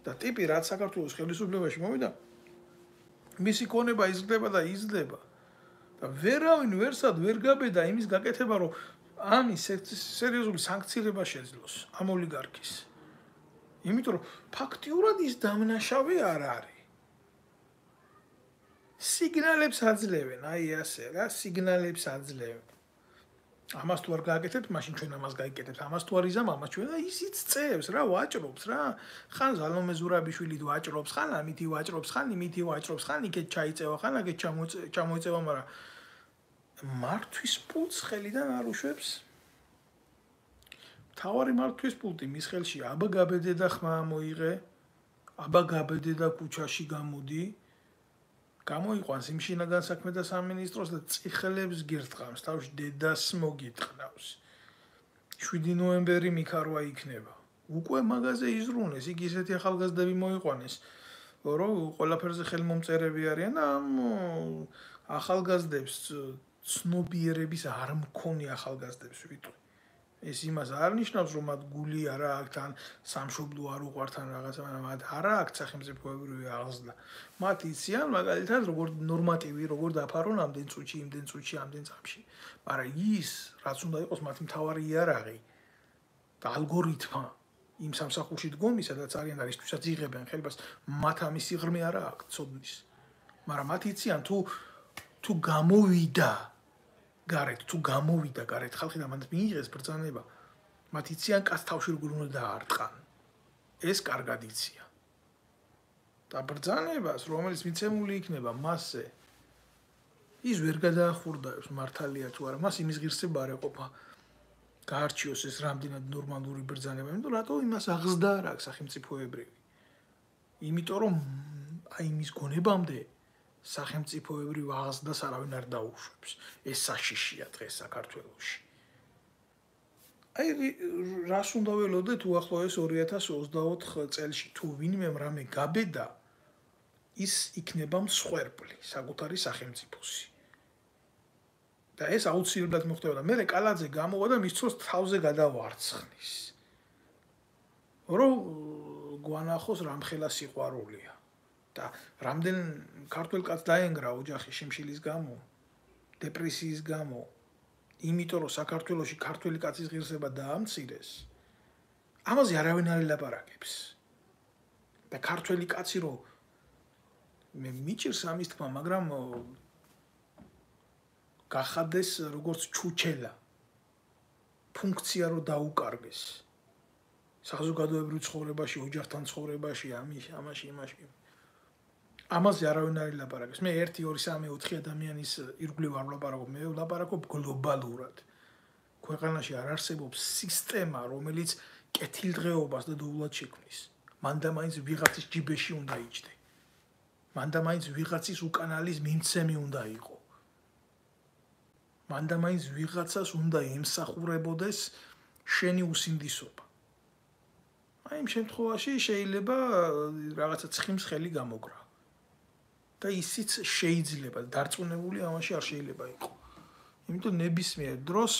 და ტიპი რაც საქართველოს ხელისუფლებაში მოვიდა მისი ქონება იზრდება და იზრდება და ვერავინ ვერსად ვერ გაბედა იმის გაკეთება რომ ამის სერიოზული სანქცირება შეძლოს ამ ოლიგარქის იმიტომ რომ ფაქტიურად ის დამნაშავე არ არის სიგნალებს აძლევენ აი ასე რა სიგნალებს აძლევენ ამას თუ არ გააკეთებთ მაშინ ჩვენ ამას გაიკეთებთ ამას თუ არ იზამ ამას ჩვენ და ისიც წევს რა ვაჭრობს რა ხან ზალომე ზურაბიშვილი ვაჭრობს ხან ამითი ვაჭრობს ხან იმითი ვაჭრობს ხან იქეთ ჩაიწევა ხან აქეთ ჩამოიწევა მაგრამ მართვის პულს ხელიდან არ უშვებს თავარი მართვის პულტი მის ხელში აბა გაბედე და ხმა მოიღე აბა გაბედე და ქუჩაში გამოდი გამოიყვანს იმ შინაგან საქმეთა სამინისტროს და წიხელებს გირთყავს თავში დედას მოგიტყნავს შვიდი ნოემბერი მიქარვა იქნება უკვე მაგაზე იზრუნეს იქ ისეთი ახალგაზრდები მოიყვანეს რომ ყველაფერზე ხელმომწერები არიან და ახალგაზრდებს ცნობიერების არ მქონი ახალგაზრდებს ვიტყვი ეს იმას არ ნიშნავს რომ მათ გული არა აქვს თან სამშობლო არ უყვართ ან რაღაცა მათ არა აქვს სახელმწიფოებრივი აღზრდა მათ იციან მაგალითად როგორ ნორმატივი როგორ დაფარონ ამდენ წუთში იმდენ წუთში ამდენ წამში მაგრამ ის რაც უნდა იყოს მათი მთავარი იარაღი და ალგორითმა იმ სამსახურში დგომის სადაც არიან და ისთვისაც იღებენ ხელებას მათ ამის სიღრმე არა აქვს ცოდნის მაგრამ მათ იციან თუ თუ გამოვიდა გარეთ თუ გამოვიდა გარეთ ხალხი და მანდ მიიღეს ბრძანება მათ იციან კაც თავში როგორ უნდა დაარტყან ეს კარგად იციან და ბრძანებას რომელიც მიცემული იქნება მასზე ის ვერ გადაახურდაებს მართალია თუ არა მას იმის ღირსება არ ეყოფა გაარჩიოს ეს რამდენად ნორმალური ბრძანება იმიტომ რატო იმას აღზრდა არ აქვს სახელმწიფოებრივი იმიტომ რომ აი იმის გონებამდე სახელმწიფოებრივ აღზრდას არავინ არ დაუშვებს. ეს საშიშია დღეს საქართველოში. აი რას უნდა ველოდეთ უახლოეს ორი ათას ოცდაოთხ წელში თუ ვინმე რამე გაბედა ის იქნება მსხვერპლი საკუთარი სახელმწიფოსი. და ეს აუცილებლად მოხდება და მე კალაძე გამოვა და მის ცოლს თავზე გადავარცხნის. რომ გვანახოს რამხელა სიყვარულია. და რამდენ ქართველ კაცს დაენგრა ოჯახი შიმშილის გამო, დეპრესიის გამო, იმიტომ რომ საქართველოში ქართველი კაცის ღირსება დაამცირეს, ამაზე არავინ არ ელაპარაკებს. და ქართველი კაცი რომ მე მიჭირს ამის თქმა, მაგრამ გახადეს როგორც ჩუჩელა, ფუნქცია რო დაუკარგეს. საზოგადოებრივ ცხოვრებაში, ოჯახთან ცხოვრებაში, ამის, ამაში, იმაში. ამაზე არავინ არ ელაპარაკებს. მე ერთი, ორი, სამი, ოთხი ადამიანის ირგვლივ არ ვლაპარაკობ, მე ვლაპარაკობ გლობალურად. ქვეყანაში არ არსებობს სისტემა, რომელიც კეთილდღეობას და დოულად შექმნის. მანდა მაინც ვიღაცის ჯიბეში უნდა იჯდე. მანდა მაინც ვიღაცის უკანალის მიმცემი უნდა იყო. მანდა მაინც ვიღაცას უნდა ემსახურებოდეს შენი უსინდისობა. აი იმ შემთხვევაში შეიძლება რაღაცა ცხიმს ხელი გამოგრა. და ისიც შეიძლება დარწმუნებული ამაში არ შეიძლება იყო. იმიტომ ნებისმიერ დროს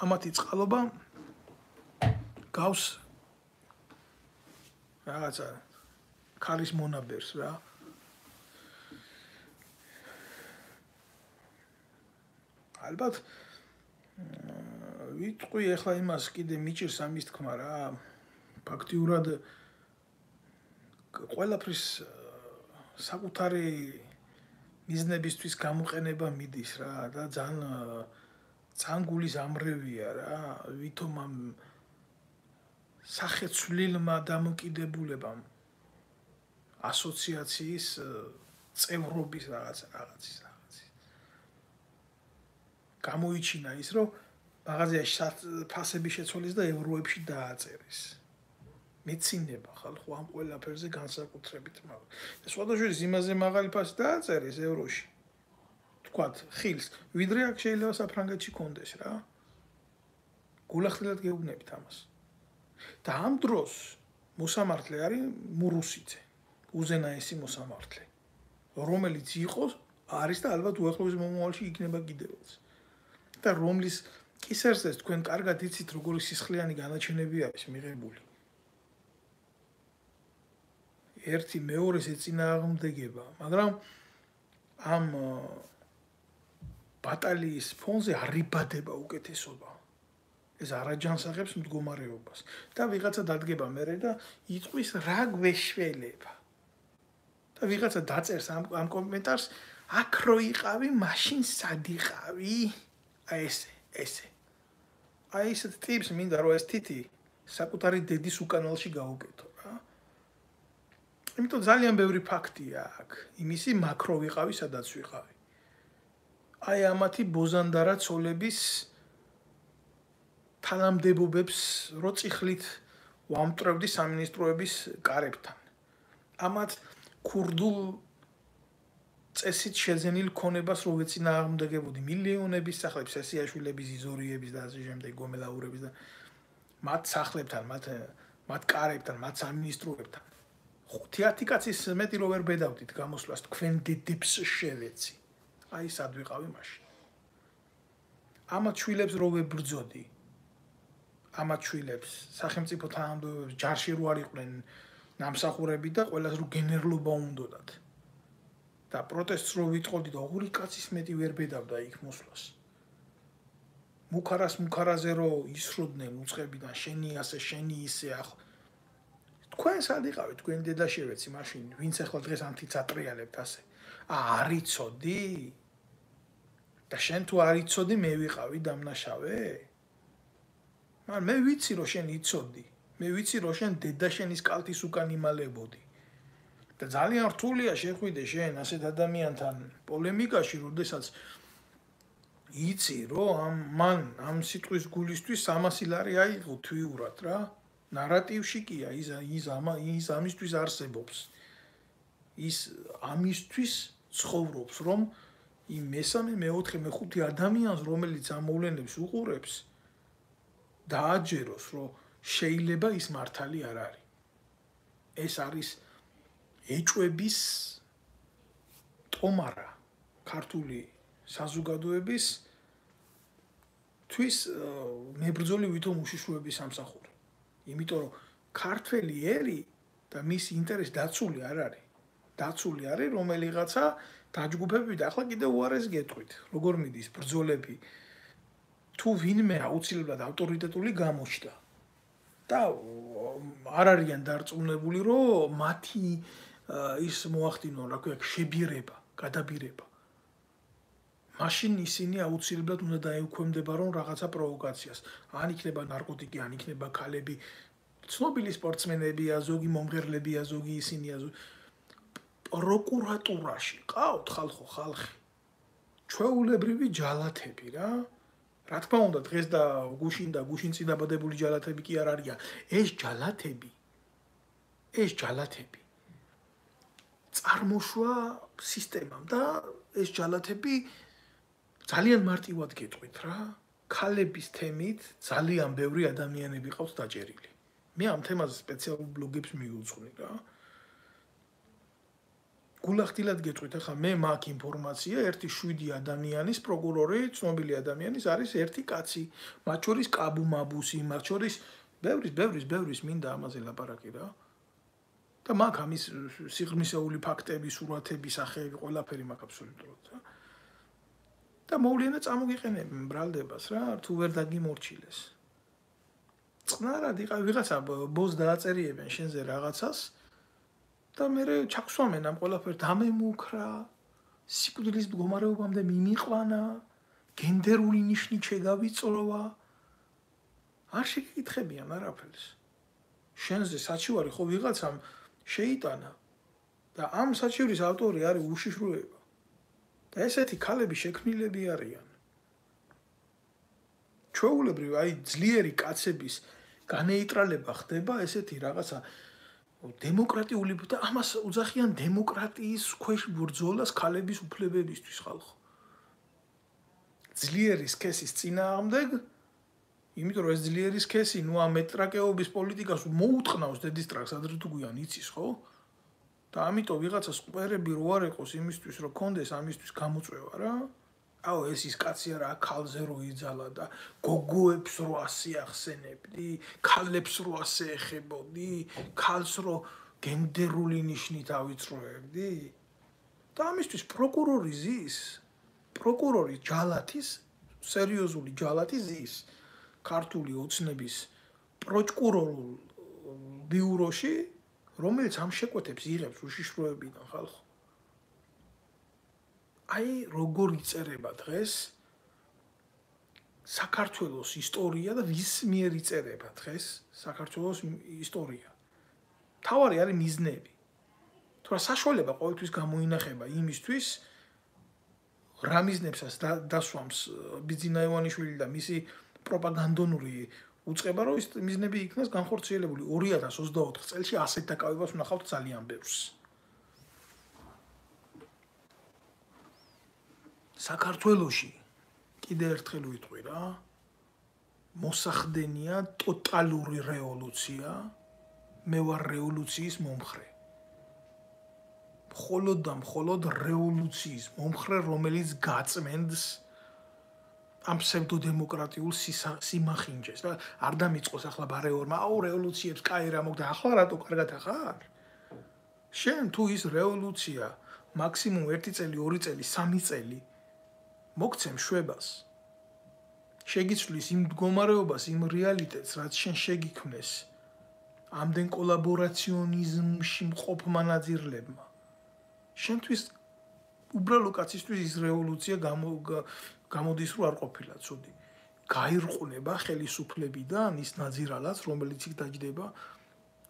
ამათი წყალობა გავს რაღაცა ქალის მონაბერს რა. ალბათ ვიტყვი ახლა იმას კიდე მიჭირს ამის თქმა რა. ფაქტიურად ყველაფრის საკუთარი მიზნებისთვის გამოყენება მიდის რა და ძალიან ძალიან გულის ამრევია რა. ვითომ ამ სახეცვლილმა დამოკიდებულებამ ასოციაციის წევრობის რაღაც რაღაცის რაღაცის გამოიჩინა ის რომ მაღაზიაში ფასები შეცვალეს და ევროებში დააწერეს. მეცინება ხალხო ამ ყველაფერზე განსაკუთრებით მაგრამ სხვადასხვა იმაზე მაღალი ფასი დააწერეს ევროში. თქვათ ხილს ვიდრე აქ შეიძლება საფრანგეთში კონდეს რა. გულახდილად გეუბნებით ამას. და ამ დროს მოსამართლე არის მურუსიძე. უზენაესი მოსამართლე. რომელიც იყოს არის და ალბათ უახლოეს მომავალში იქნება კიდევაც. და რომლის კისერზეც თქვენ კარგად იცით როგორი სისხლიანი განაჩენები არის მიღებული. ერთი მეორეს ეწინააღმდეგება, მაგრამ ამ ბატალიის ფონზე არიბადება უკეთესობა. ეს არაჯანსაღებს მდგომარეობას და ვიღაცა დადგება მერე და იტყვის რა გვეშველება. და ვიღაცა დაწერს ამ ამ კომენტარს აქ რო იყავი, მაშინ სად იყავი? აი ესე, ესე. აი ეს ტიპს მინდა რომ ეს თითი საკუთარი დედის უკანალში გაუკეთო რა. იმიტომ ძალიან ბევრი ფაქტია აქ. იმისი მაკრო ვიყავი, სადაც ვიყავი. აი ამათი ბოზანდარა ცოლების თანამდებობებს რო წიხლით ვამტრევდი სამინისტროების კარებთან. ამათ ქურდულ წესით შეძენილ ქონებას რო ვეწინააღმდეგებოდი მილიონების სახლებს, სესიაშვილების, იზორიების და ასე შემდეგ გომელაურების და მათ სახლებთან, მათ მათ კარებთან, მათ სამინისტროებთან. ხუთი კაცის მეტი რო ვერ ბედავდით გამოსვლას თქვენ დედებს შევეცი. აი სად ვიყავი მაშინ. ამათ შვილებს რო ვებრძოდი. ამათ შვილებს სახელმწიფო თანამდებობებს ჯარში რო არ იყვნენ ნამსახურები და ყველას რო გენერლობა უნდოდათ. და პროტესტს რო ვიტყოდი და ორი კაცის მეტი ვერ ბედავდა იქ მოსვლას. მუქარას მუქარაზე რო ისროდნენ უცხებიდან შენი ასე შენი ისე ახ თქვენ სად იყავით თქვენ დედა შევეცი მაშინ ვინც ახლა დღეს ამთიც ატრიალებთ ასე. ა არიცოდი? და შენ თუ არიცოდი მე ვიყავი დამნაშავე? მაგრამ მე ვიცი რომ შენ იცოდი. მე ვიცი რომ შენ დედა შენის კალთის უკან იმალებოდი. და ძალიან რთულია შეხვიდე შენ ასეთ ადამიანთან პოლემიკაში, როდესაც იცი რომ ამ მან ამ სიტყვის გულისთვის სამასი ლარი აიღო თვიურად რა. ნარატივში კია ის ის ამა ის ამისთვის არსებობს. ის ამისთვის ცხოვრობს, რომ იმ მესამე, მეოთხე, მეხუთე ადამიანს, რომელიც ამ მოვლენებს უყურებს, დააჯეროს, რომ შეიძლება ის მართალი არ არის. ეს არის ეჭვების ტომარა ქართული საზოგადოების თვის მებრძოლი ვითომ უშიშროების სამსახური. იმიტომ რომ ქართველი ერი და მის ინტერესი დაცული არ არის. დაცული არის რომელიღაცა დაჯგუფებები და ახლა კიდევ უარეს გეტყვით. როგორ მიდის ბრძოლები თუ ვინმე აუცილებლად ავტორიტეტული გამოჩნდა. და არ არიან დარწმუნებული რომ მათი ის მოახდინონ რა ქვია შებირება, გადაბირება. მაშინ ისინი აუცილებლად უნდა დაექვემდებარონ რაღაცა პროვოკაციას. ან იქნება ნარკოტიკი, ან იქნება ქალები, ცნობილი სპორტსმენებია, ზოგი მომღერლებია, ზოგი ისინია. პროკურატურაში ყავთ ხალხო, ხალხი. ჩვეულებრივი ჯალათები რა. რა თქმა უნდა, დღეს და გუშინ და გუშინწი დაბადებული ჯალათები კი არ არიან. ეს ჯალათები, ეს ჯალათები წარმოშვა სისტემამ და ეს ჯალათები ძალიან მარტივად გეტყვით რა. ქალების თემით ძალიან ბევრი ადამიანები ყავს დაჭერილი. მე ამ თემაზე სპეციალურ ბლოგებს მივუძღვნი რა. გულახდილად გეტყვით, ახლა მე მაქვს ინფორმაცია, ერთი შვიდი ადამიანის პროკურორი, ცნობილი ადამიანის არის ერთი კაცი, მათ შორის კაბუ მაბუსი, მათ შორის ბევრის, ბევრის, ბევრის მინდა ამაზე ლაპარაკი რა. და მაქვს ამის სიღრმისეული ფაქტები, სურათები, სახეები, ყველაფერი მაქვს აბსოლუტურად რა. და მოვლენა წამოგიყენებენ ბრალდებას რა, თუ ვერ დაგიმორჩილეს. წყნარად იყავ ვიღაცა ბოს დააწერიებენ შენზე რაღაცას და მე ჩაქსვამენ ამ ყველაფერს დამემუქრა, სიკვდილის მდგომარეობამდე მიმიყვანა, გენდერული ნიშნით შეგავიწროვა. არ შეგიკითხებიან არაფერს. შენზე საჩივარი ხო ვიღაცამ შეიტანა და ამ საჩივრის ავტორი არის უშიშროება. და ესეთი ქალები შექმნილები არიან. ჩვეულებრივ აი ძლიერი კაცების განეიტრალება ხდება ესეთი რაღაცა დემოკრატიული და ამას უძახიან დემოკრატიის ქვეშ ბრძოლას ქალების უფლებებისთვის ხალხო. ძლიერის სქესის წინააღმდეგ, იმიტომ რომ ეს ძლიერის სქესი ნუ ამ მეტრაკეობის პოლიტიკას მოუტყნავს დედისტრაკს ადრე თუ გვიან იცის ხო? და ამიტომ ვიღაცას ყვერები რო არ ეყოს იმისთვის რომ კონდეს ამისთვის გამოწვევა რა. აუ ეს ის კაცი არა ქალზე რო იძალა და გოგოებს რო ასე ახსენებდი, ქალებს რო ასე ეხებოდი, ქალს რო გენდერული ნიშნით ავიწროებდი. და ამისთვის პროკურორი ზის, პროკურორი ჯალათის, სერიოზული ჯალათი ზის ქართული ოცნების პროკურორულ ბიუროში, რომელიც ამ შეკვეთებს იღებს უშიშროებიდან ხალხო. აი როგორ იწერება დღეს საქართველოს ისტორია და ვის მიერ იწერება დღეს საქართველოს ისტორია. თავარი არის მიზნები. თუ რა საშუალება ყოველთვის გამოინახება იმისთვის რა მიზნებსაც დასვამს ბიძინა ივანიშვილი და მისი პროპაგანდონური უწყება, რომ ის მიზნები იქნას განხორციელებული. ორი ათას ოცდაოთხ წელს ასეთ დაკავებას ვნახავთ ძალიან ბევრს. საქართველოში კიდე ერთხელ ვიტყვი რა, მოსახდენია ტოტალური რევოლუცია, მე ვარ რევოლუციის მომხრე. მხოლოდ და მხოლოდ რევოლუციის მომხრე, რომელიც გაწმენდს ამ ფსევდოდემოკრატიულ სიმახინჯეს და არ დამიწყოს ახლა ბარეორმა, აუ რევოლუციებს კაი რა მოგდა, ახლა რატო კარგად ახარ? შენ თუ ის რევოლუცია მაქსიმუმ ერთი წელი, ორი წელი, სამი წელი მოგცემ შვებას. შეგიცვლის იმ მდგომარეობას, იმ რეალიტეტს, რაც შენ შეგიქმნეს ამდენ კოლაბორაციონიზმში მყოფმა ნაძირლებმა. შენთვის უბრალო კაცისთვის ის რევოლუცია გამოდის რომ არ ყოფილა ცუდი. გაირყუნება ხელისუფლებიდან ის ნაძირალაც, რომელიც იქ დაჯდება,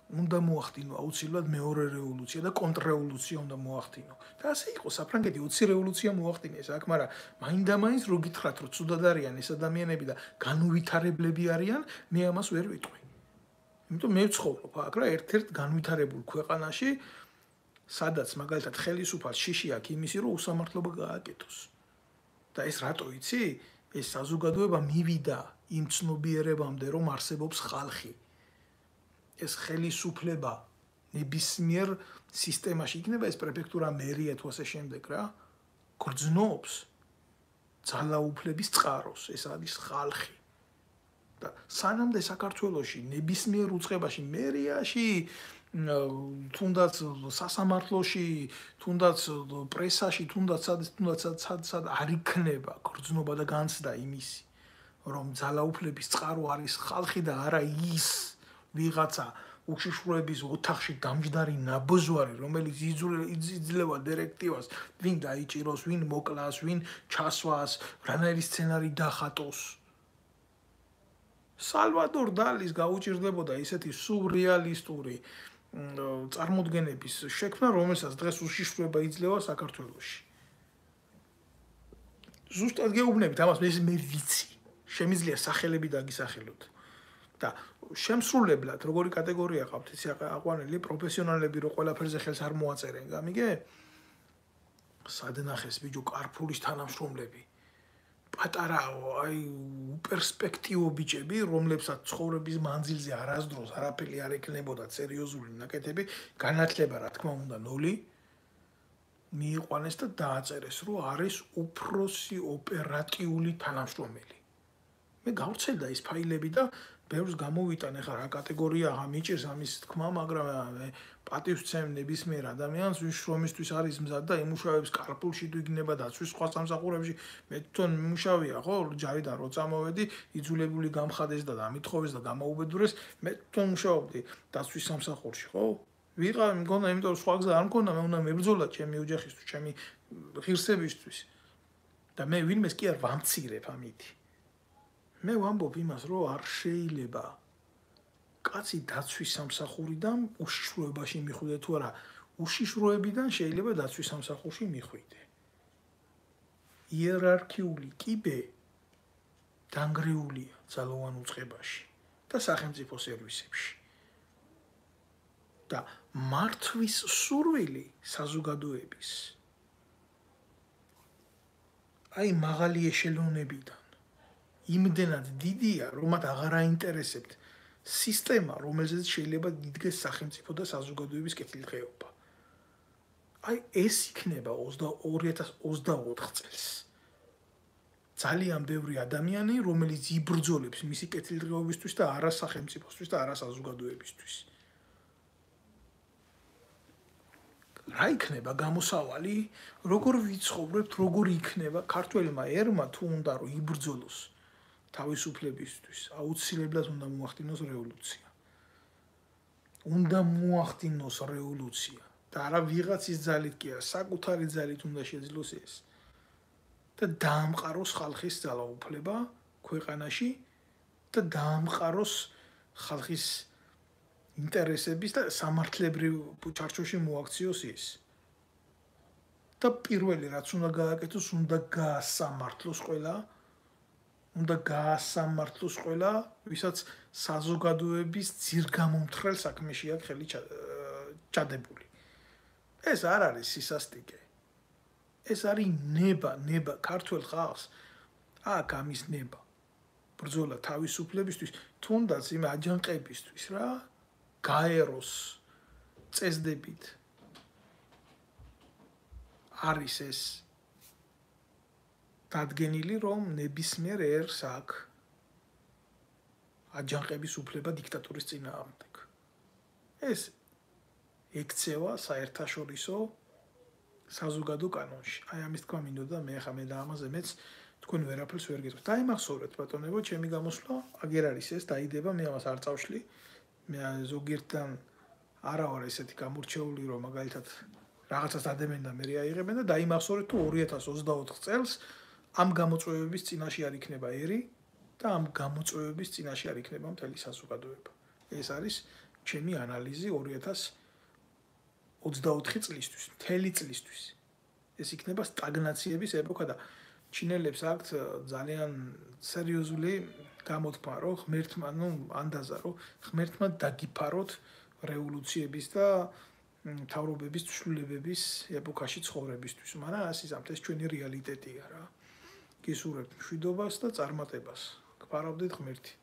უნდა მოახდინო აუცილებლად მეორე რევოლუცია და კონტრრევოლუცია უნდა მოახდინო. და ასე იყო საფრანგეთი ოცი რევოლუცია მოახდინეს აქ, მაგრამ მაინდა-მაინც რო გითხრათ, რომ ცუდად არიან ეს ადამიანები და განუვითარებლები არიან, მე ამას ვერ ვიტყვი. იმიტომ მე ვცხოვრობ აქ რა, ერთ-ერთ განვითარებულ ქვეყანაში, სადაც მაგალითად ხელისუფალს შიში აქვს იმისი, რომ უსამართლობა გააკეთოს. და ეს რატო იცი? ეს საზოგადოება მივიდა იმ ცნობიერებამდე, რომ არსებობს ხალხი. ეს ხელისუფლება ნებისმიერ სისტემაში იქნება ეს პრეფექტურა, მერია თუ ასე შემდეგ რა, გრძნობს ძალაუფლების წყაროს, ეს არის ხალხი. და სანამდე საქართველოში ნებისმიერ უწყებაში, მერიაში, თუნდაც სასამართლოში, თუნდაც პრესაში, თუნდაც თუნდაც სად არ იქნება გრძნობა და განცდა იმისი, რომ ძალაუფლების წყარო არის ხალხი და არა ის ვიღაცა უშიშროების ოთახში დამჯდარი ნაბოზვარი, რომელიც იძლევა დირექტივას, ვინ დაიჭიროს, ვინ მოკლას, ვინ ჩასვას, რანაირი სცენარი დახატოს. სალვადორ დალის გაუჭირდებოდა ისეთი სურრეალისტური წარმოდგენების შექმნა, რომელსაც დღეს უშიშროება იძლევა საქართველოში. ზუსტად გეუბნებით, ამას მე ვიცი. შემიძლია სახელები დაგისახელოთ. და შემსრულებლად როგორი კატეგორია ყავთ ისი აყვანილი პროფესიონალები რო ყველაფერზე ხელს არ მოაწერენ, გამიგე? სადნახეს ბიჭო კარფურის თანამშრომლები. პატარა აი უპერსპექტივო ბიჭები, რომლებსაც ცხოვრების მანძილზე არასდროს არაფერი არ ეკნებოდა სერიოზული ნაკეთები, განათლება რა თქმა უნდა ნული, მიიყვანეს და დააწერეს, რომ არის უფროსი ოპერატიული თანამშრომელი. მე გავრცელდა ის ფაილები და ბევრს გამოვიტან ახლა რა კატეგორია ამიჭირს ამის თქმა, მაგრამ პატივს ვცემ ნებისმიერ ადამიანს, ვის შრომისთვის არის მზად და იმუშავებს კარპულში თუ იქნება დაცვის სხვა სამსახურებში, მე თვითონ მიმუშავია, ხო, ჯარიდან რო წამოვედი, იძულებული გამხადეს და დამითხოვეს და გამოუბედურეს, მე თვითონ მუშაობდი დაცვის სამსახურში, ხო? ვიყავ, მგონა, იმიტომ რომ სხვა გზა არ მქონდა, მე უნდა მებრძოლა ჩემი ოჯახისთვის, ჩემი ღირსებისთვის. და მე ვინმეს კი არ ვამცირებ ამით. მე ვამბობ იმას, რომ არ შეიძლება კაცი დაცვის სამსახურიდან უშიშროებაში მიხვიდე თუ არა, უშიშროებიდან შეიძლება დაცვის სამსახურში მიხვიდე. იერარქიული კიბე დანგრეულია ძალოვან უწყებაში და სახელმწიფო სერვისებში. და მართვის სურვილი საზოგადოების აი მაღალი ეშელონებიდან იმდენად დიდია, რომ მათ აღარ აინტერესებთ სისტემა, რომელზეც შეიძლება დიდგეს სახელმწიფო და საზოგადოების კეთილდღეობა. აი ეს იქნება ორი ათას ოცდაოთხ წელს. ძალიან ბევრი ადამიანი, რომელიც იბრძოლებს მისი კეთილდღეობისთვის და არა სახელმწიფოსთვის და არა საზოგადოებისთვის. რა იქნება გამოსავალი, როგორ ვიცხოვრებთ, როგორ იქნება ქართველმა ერმა თუ უნდა რომ იბრძოლოს თავისუფლებისთვის, აუცილებლად უნდა მოახდინოს რევოლუცია. უნდა მოახდინოს რევოლუცია და არა ვიღაცის ძალით კი არა, საკუთარი ძალით უნდა შეძლოს ეს. და დაამყაროს ხალხის ძალაუფლება ქვეყანაში და დაამყაროს ხალხის ინტერესების და სამართლებრივ ჩარჩოში მოაქციოს ის. და პირველი რაც უნდა გააკეთოს, უნდა გაასამართლოს ყველა, უნდა გაასამართლოს ყველა, ვისაც საზოგადოების ძირგამომთხრელ საქმეში აქვს ხელი ჩადებული. ეს არ არის სისასტიკე. ეს არის ნება, ნება ქართულ ხალხს აქ ამის ნება. ბრძოლა თავისუფლებისთვის, თუნდაც იმ აჯანყებისთვის რა, გაეროს წესდებით არის ეს დადგენილი, რომ ნებისმიერ ერს აქვს აჯანყების უფლება დიქტატურის წინააღმდეგ. ეს ექცევა საერთაშორისო საზოგადო კანონში. აი ამის თქმა მინდოდა მე ხა მე და ამაზე მეც თქვენ ვერაფერს ვერ გეტყვით. დაიმახსოვრეთ ბატონებო, ჩემი გამოსვლა აგერ არის ეს, დაიდება, მე ამას არ წავშლი. მე ზოგიერთთან არა ვარ ესეთი გამორჩეული, რომ მაგალითად რაღაცას დადემენ და მე რეაიღებენ და დაიმახსოვრეთ თუ ორი ათას ოცდაოთხ წელს ამ გამოწვევების წინაშე არ იქნება ერი და ამ გამოწვევების წინაშე არ იქნება მთელი საზოგადოება. ეს არის ჩემი ანალიზი ორი ათას ოცდაოთხი წლისთვის, მთელი წლისთვის. ეს იქნება სტაგნაციების ეპოქა და ჩინელებს აქვთ ძალიან სერიოზული გამოთქმა, რომ ღმერთმა, ну, ანდაზა, რომ ღმერთმა დაგიფაროთ რევოლუციების და მთავრობების ცვლილებების ეპოქაში ცხოვრებისთვის. მაგრამ ასე ამთ ეს ჩვენი რეალიტეტია რა. გისურვებთ მშვიდობას და წარმატებას. გფარავდეთ ღმერთი.